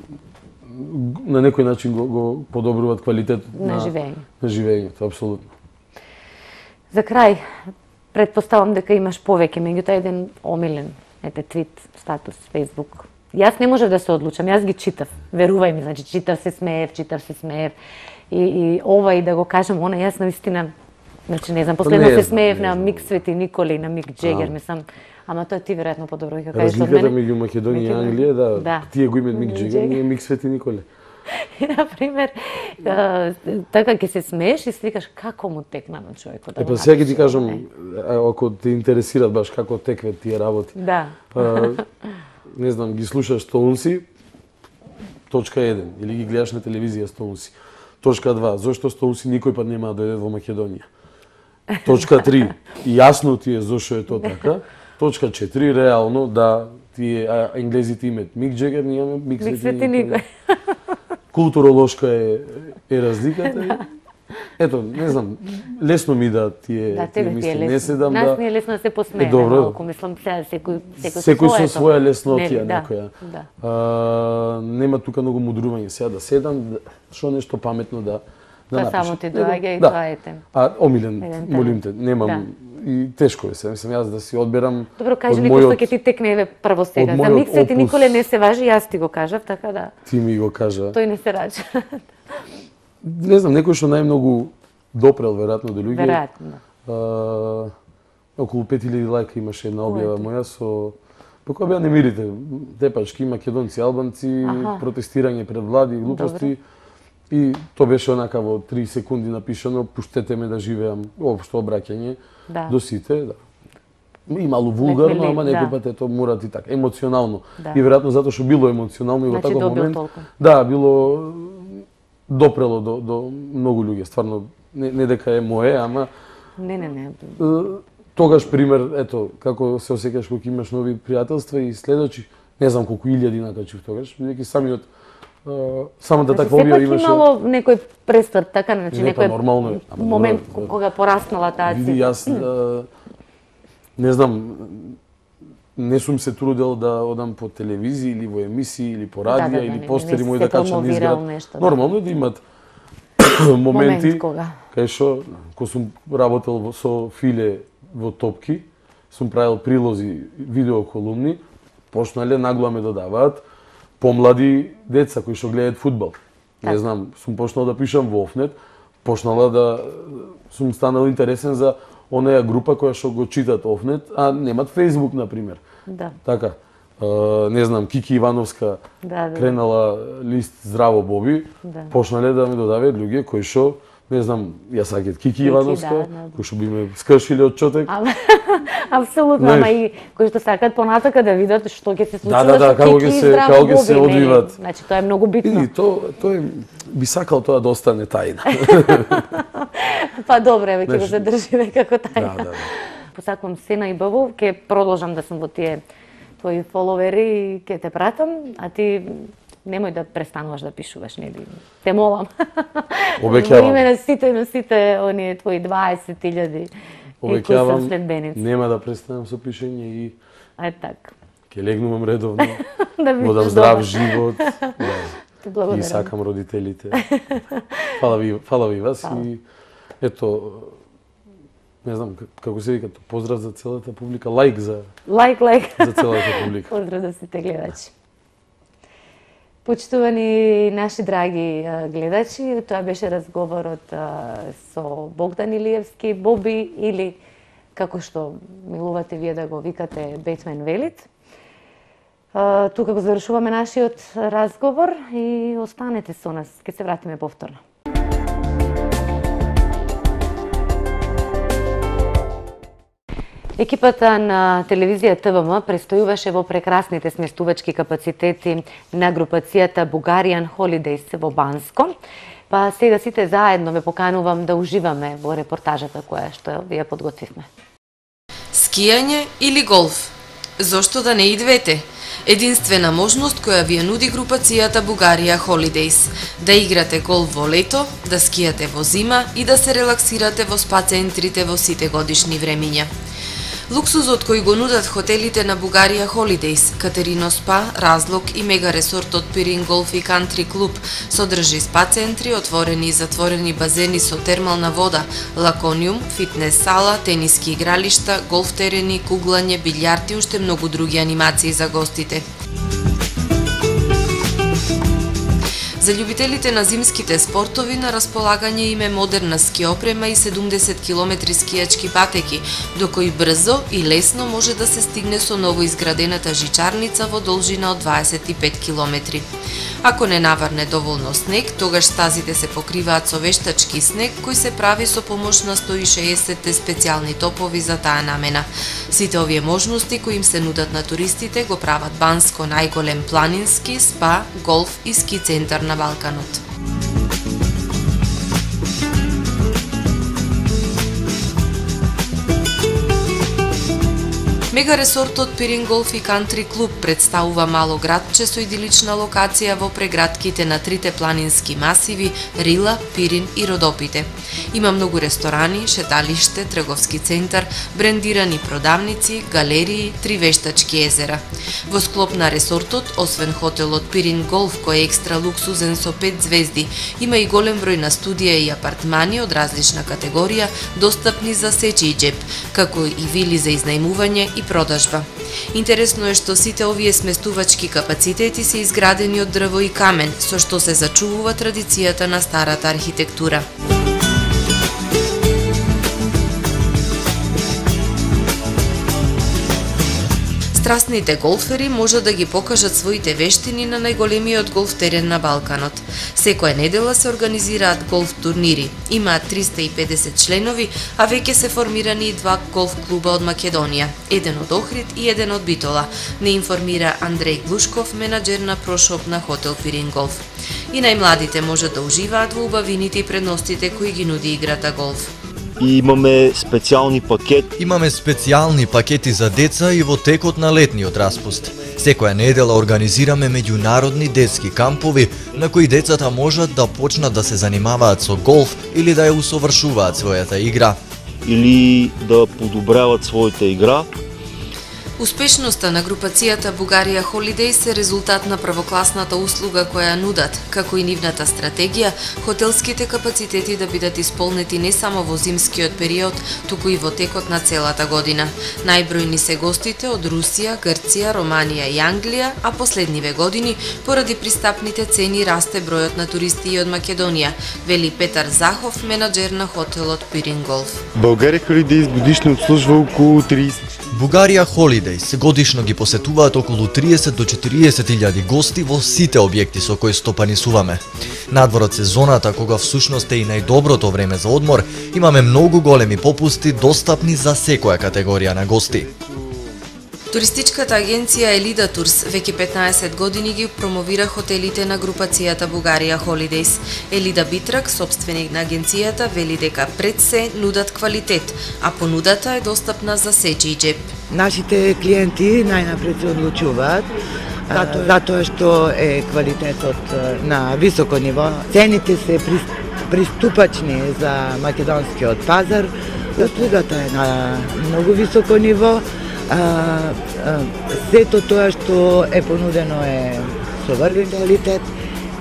S5: на некој начин го подобруваат квалитетот
S1: На живење.
S5: На живењето, апсолутно.
S1: За крај, предпоставам дека имаш повеќе, меѓутоа еден омилен, твит, статус, Facebook. Јас не можев да се одлучам, јас ги читав. Верувај ми, значи читав се смеев. И ова и да го кажам, она јас наистина, значи не знам, последно
S5: Не
S1: се
S5: знам,
S1: смеев
S5: не
S1: на
S5: знам.
S1: Мик Свети Николи, на Мик Джегер, мислам, ама тоа ти веројатно подобро ќе кажеш од
S5: Разликата
S1: мене.
S5: меѓу Македонија и Англија, да,
S1: Да.
S5: тие го имаат Мик
S1: Мик
S5: Джегер,
S1: Джегер.
S5: ние Мик Свети Николе.
S1: И, например, така ќе се смееш и свикаш како му текна на човекот.
S5: Па сега ќе ти кажам, ако те интересираат баш како текве тие работи.
S1: Да.
S5: не знам, ги слушаш Стоунси, точка 1, или ги гледаш на телевизија Стоунси. Точка 2, зошто Стоунси никој пат нема да дојде во Македонија. Точка 3, јасно ти е зошто е тоа така. Точка 4, реално да тие енглезите имат Мик Джегер, ние имаме Мик Свети никој. Културолошка е разликата. Ето, не знам, лесно ми да тие мисли, не се дам да...
S1: Нас не е лесно да се посмееме,
S5: добро.
S1: малку, мислам,
S5: секој со своја леснотија некоја.
S1: Да.
S5: Нема тука многу мудрување, сега да седам, шо нешто паметно да напишам.
S1: Само ти доаѓа и тоа ете.
S5: Омилен, молим те, немам, и тешко е се, мислам, јас да си одберам.
S1: Добро, кажи ми кој ќе ти текне прво сега. За Мик Свети Николе не се важи, јас ти го кажав, така да.
S5: Ти ми го кажа.
S1: Тој не се рача.
S5: Не знам, некој што најмногу допрел веројатно до луѓе.
S1: Веројатно.
S5: Околу 5000 лајка имаше една објава моја со по која беа немирите, тепачки, македонци, албанци, протестирање пред влади, глупости. И тоа беше онака во 3 секунди напишано, пуштете ме да живеам, општо обраќање до сите, да. И малку вулгарно, ама некој пат ето мора ти така, емоционално. И веројатно затоа што било емоционално и во таков момент. Да, било допрело до многу луѓе, стварно не дека е мое, ама
S1: Не.
S5: Тогаш пример, ето, како се осеќаш кога имаш нови пријателства и следочи, не знам колку илјади накачив тогаш, бидејќи самата таква објава имаше.
S1: Сепак имало некој престарт, така, значи
S5: некој
S1: момент кога пораснала таа цифра.
S5: Види, јас не знам, не сум се трудел да одам по телевизија или во емисии или по радија или постери мои да качам низ град. Нормално е да имат моменти кај што кога сум работел со Филе во Топки, сум правил прилози, видеоколумни, почнале нагло ме додаваат помлади деца кои што гледаат фудбал. Не знам, сум почнал да пишам во Офнет, почнала да сум станал интересен за онаа група која што го читат Офнет, а немат Facebook, например.
S1: Да.
S5: Така. Не знам, Кики Ивановска кренала лист Здраво Боби, почнале да ме додаваат луѓе кои што, не знам, ја сакат Кики Ивановска, кои што би ме скршиле од чотек.
S1: Апсолутно, ама и кои што сакат понатака да видат што ќе се случи
S5: со Кики и Здраво Боби. Како ќе се одвиват.
S1: Значи, тоа е многу битно.
S5: И тоа би сакал тоа да остане тајна.
S1: Па добре, ќе го задржиме како тајна.
S5: Да.
S1: Посакувам се најбаво, ќе продолжам да сум во тие твои фоловери и ќе те пратам, а ти немој да престануваш да пишуваш, нели? Те молам.
S5: Обеќавам.
S1: Име на сите оние твои 20.000
S5: обеќавам, нема да престанам со пишење и
S1: така.
S5: Ќе легнувам редовно,
S1: да
S5: дам здрав живот.
S1: Да.
S5: И сакам родителите. Фала ви вас и ето, не знам како се вика, поздрав за целата публика, лајк за целата публика.
S1: Поздрав за сите гледачи. Почитувани наши драги гледачи, тоа беше разговорот со Богдан Илиевски, Боби или како што милувате вие да го викате Бетмен Велит. Тука го завршуваме нашиот разговор и останете со нас, ќе се вратиме повторно. Екипата на телевизија ТВМ престојуваше во прекрасните сместувачки капацитети на групацијата Bulgarian Holidays во Банско. Па сега сите заедно ве поканувам да уживаме во репортажата која што ви ја подготвивме.
S6: Скијање или голф? Зошто да не и двете? Единствена можност која ви ја нуди групацијата Bulgaria Holidays. Да играте голф во лето, да скијате во зима и да се релаксирате во спа центрите во сите годишни времиња. Луксузот кој го нудат хотелите на Bulgaria Holidays, Катерино Спа, Разлог и мега ресортот Пирин Голф и Кантри Клуб содржи спа центри, отворени и затворени базени со термална вода, лакониум, фитнес сала, тениски игралишта, голф терени, куглање, билјард и уште многу други анимации за гостите. За љубителите на зимските спортови на располагање им е модерна ски опрема и 70 км скијачки патеки, до кои брзо и лесно може да се стигне со новоизградената жичарница во должина од 25 км. Ако не наврне доволно снег, тогаш стазите се покриваат со вештачки снег кој се прави со помош на 160 специјални топови за таа намена. Сите овие можности кои им се нудат на туристите го прават Банско најголем планински, спа, голф и ски центар на Балканот. Мега ресортот Пирин Голф и Кантри клуб представува мало градче со идилична локација во прегратките на трите планински масиви Рила, Пирин и Родопите. Има многу ресторани, шеталиште, трговски центар, брендирани продавници, галерии, 3 вештачки езера. Во склоп на ресортот, освен хотелот Пирин Голф кој е екстра луксузен со 5 звезди, има и голем број на студија и апартмани од различна категорија достапни за сечи џеб, како и вили за изнајмување и продажба. Интересно е што сите овие сместувачки капацитети се изградени од дрво и камен, со што се зачувува традицијата на старата архитектура. Страстните голфери може да ги покажат своите вештини на најголемиот голф терен на Балканот. Секоја недела се организираат голф турнири. Имаат 350 членови, а веќе се формирани и 2 голф клуба од Македонија, еден од Охрид и еден од Битола, не информира Андреј Глушков, менаџер на прошоп на хотел Пирин Голф. И најмладите можат да уживаат во убавините и предностите кои ги нуди играта голф.
S7: И имаме специјални пакети.
S2: Имаме специјални пакети за деца и во текот на летниот распуст. Секоја недела организираме меѓународни детски кампови на кои децата можат да почнат да се занимаваат со голф или да ја усовршуваат својата игра.
S7: Или да подобрават својата игра.
S6: Успешноста на групацијата Бугарија Холидејс е резултат на првокласната услуга која нудат, како и нивната стратегија, хотелските капацитети да бидат исполнети не само во зимскиот период, туку и во текот на целата година. Најбројни се гостите од Русија, Грција, Романија и Англија, а последниве години, поради пристапните цени, расте бројот на туристи и од Македонија, вели Петар Захов, менаџер на хотелот Пирин Голф.
S8: Бугарија Холидејс годишно обслужува околу 30.
S2: Бугарија Холидејс годишно ги посетуваат околу 30 до 40.000 гости во сите објекти со кои стопанисуваме. Надвор од сезоната, кога всушност е и најдоброто време за одмор, имаме многу големи попусти достапни за секоја категорија на гости.
S6: Туристичката агенција Елида Турс веќе 15 години ги промовира хотелите на групацијата Бугарија Холидејс. Елида Битрак, собственик на агенцијата, вели дека пред се нудат квалитет, а понудата е достапна за сечи џеб.
S9: Нашите клиенти најнапред се одлучуваат затоа што е квалитетот на високо ниво. Цените се приступачни за македонскиот пазар, услугата е на многу високо ниво. Сето тоа што е понудено е со врвен квалитет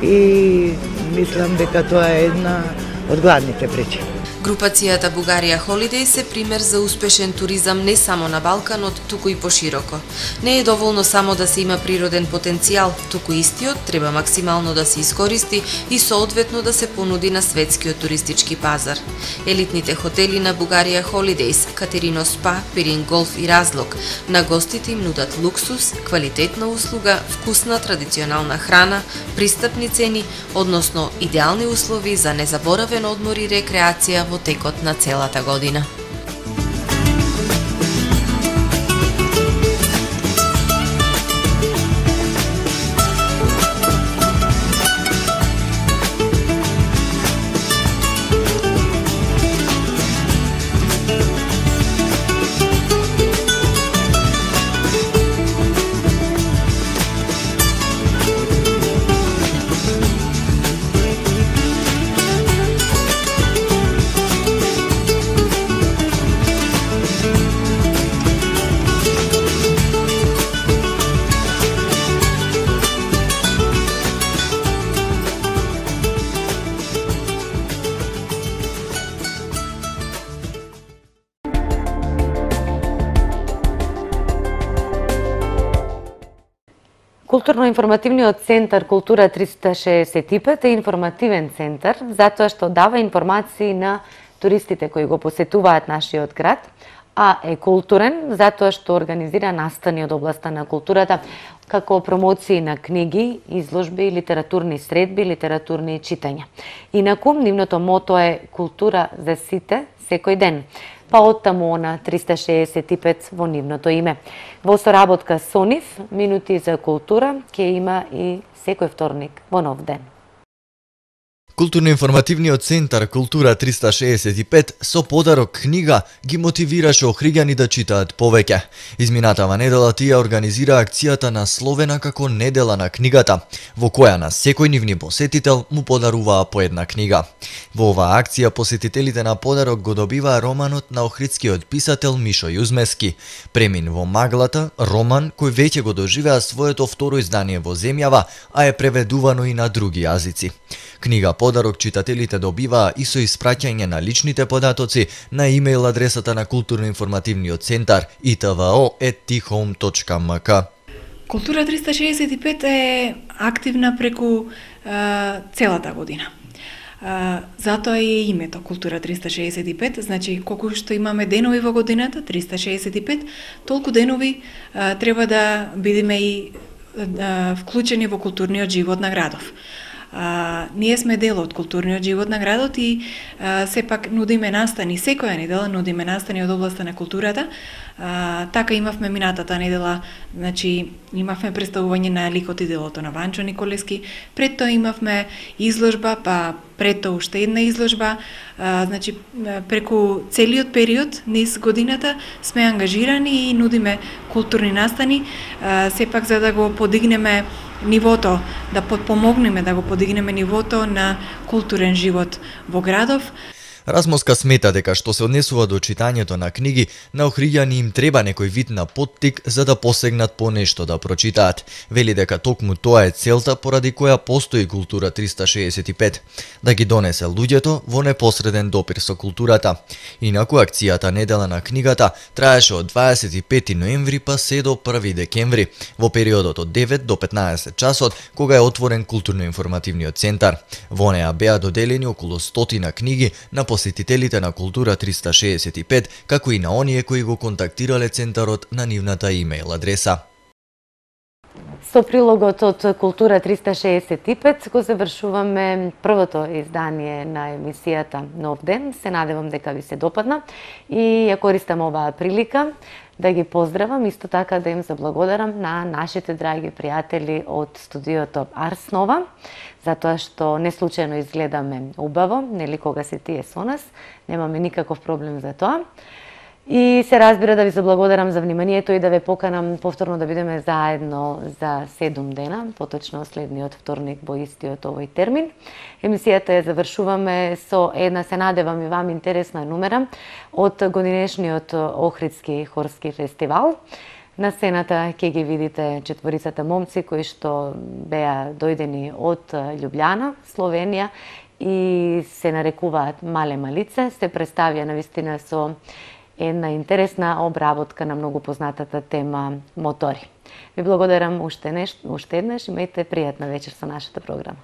S9: и мислам дека тоа е една од главните причини.
S6: Групацијата Бугарија Холидејс е пример за успешен туризам не само на Балканот, туку и пошироко. Не е доволно само да се има природен потенцијал, туку истиот треба максимално да се искористи и соодветно да се понуди на светскиот туристички пазар. Елитните хотели на Бугарија Холидејс, Катерино Спа, Пирин Голф и Разлог, на гостите им нудат луксус, квалитетна услуга, вкусна традиционална храна, пристапни цени, односно идеални услови за незаборавен одмор и рекреација во текот на целата година.
S1: Културно-информативниот центар Култура 365 е информативен центар затоа што дава информации на туристите кои го посетуваат нашиот град, а е културен затоа што организира настани од областа на културата, како промоции на книги, изложби, литературни средби, литературни читања. Инаку, нивното мото е култура за сите, секој ден, па оттаму на 365 во нивното име. Во соработка со нив, минути за култура ќе има и секој вторник во нов ден.
S2: Културно-информативниот центар Култура 365 со подарок книга ги мотивираше охриѓани да читаат повеќе. Изминатава недела тие организира акцијата насловена како Недела на книгата, во која на секој нивни посетител му подаруваа по една книга. Во оваа акција посетителите на подарок го добиваа романот на охридскиот писател Мишо Јузмески, Премин во маглата, роман кој веќе го доживеа своето второ издание во земјава, а е преведувано и на други јазици. Книга подарок читателите добиваа и со испраќање на личните податоци на имејл адресата на Културно-информативниот центар itvo@thome.mk.
S10: Култура 365 е активна преку целата година. Затоа е името Култура 365, значи колку што имаме денови во годината, 365, толку денови треба да бидеме и вклучени во културниот живот на градов. Ние сме дел од културниот живот на градот и сепак нудиме настани, секоја недела нудиме настани од областа на културата. Така имавме минатата недела, значи имавме представување на ликот и делото на Ванчо Николески, пред тоа имавме изложба, па пред тоа уште една изложба, значи преку целиот период низ годината сме ангажирани и нудиме културни настани, сепак за да го подигнеме нивото, да подпомогнеме да го подигнеме нивото на културен живот во градов.
S2: Размоска смета дека што се однесува до читањето на книги, на охриѓани им треба некој вид на поттик за да посегнат по нешто да прочитаат. Вели дека токму тоа е целта поради која постои Култура 365, да ги донесе луѓето во непосреден допир со културата. Инаку акцијата Недела на книгата траеше од 25 ноември па се до 1 декември, во периодот од 9 до 15 часот, кога е отворен Културно-информативниот центар. Во неа беа доделени околу 100 книги на посетителите на Култура 365, како и на оние кои го контактирале центарот на нивната имејл адреса.
S1: Со прилогот од Култура 365 го завршуваме првото издание на емисијата Нов ден. Се надевам дека ви се допадна и ја користам оваа прилика да ги поздравам, исто така да им заблагодарам на нашите драги пријатели од студиото Арс Нова, затоа што не случајно изгледаме убаво, нели кога се тие со нас, немаме никаков проблем за тоа. И се разбира да ви заблагодарам за вниманието и да ве поканам повторно да бидеме заедно за 7 дена, поточно следниот вторник во истиот овој термин. Емисијата ја завршуваме со една, се надевам и вам, интересна номера од годинешниот Охридски хорски фестивал. На сцената ќе ги видите четворицата момци кои што беа дојдени од Љубљана, Словенија и се нарекуваат Мале Малице. Се представија навистина со една интересна обработка на многу познатата тема мотори. Ви благодарам уште еднаш, имајте пријатна вечер со нашата програма.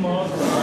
S11: Oh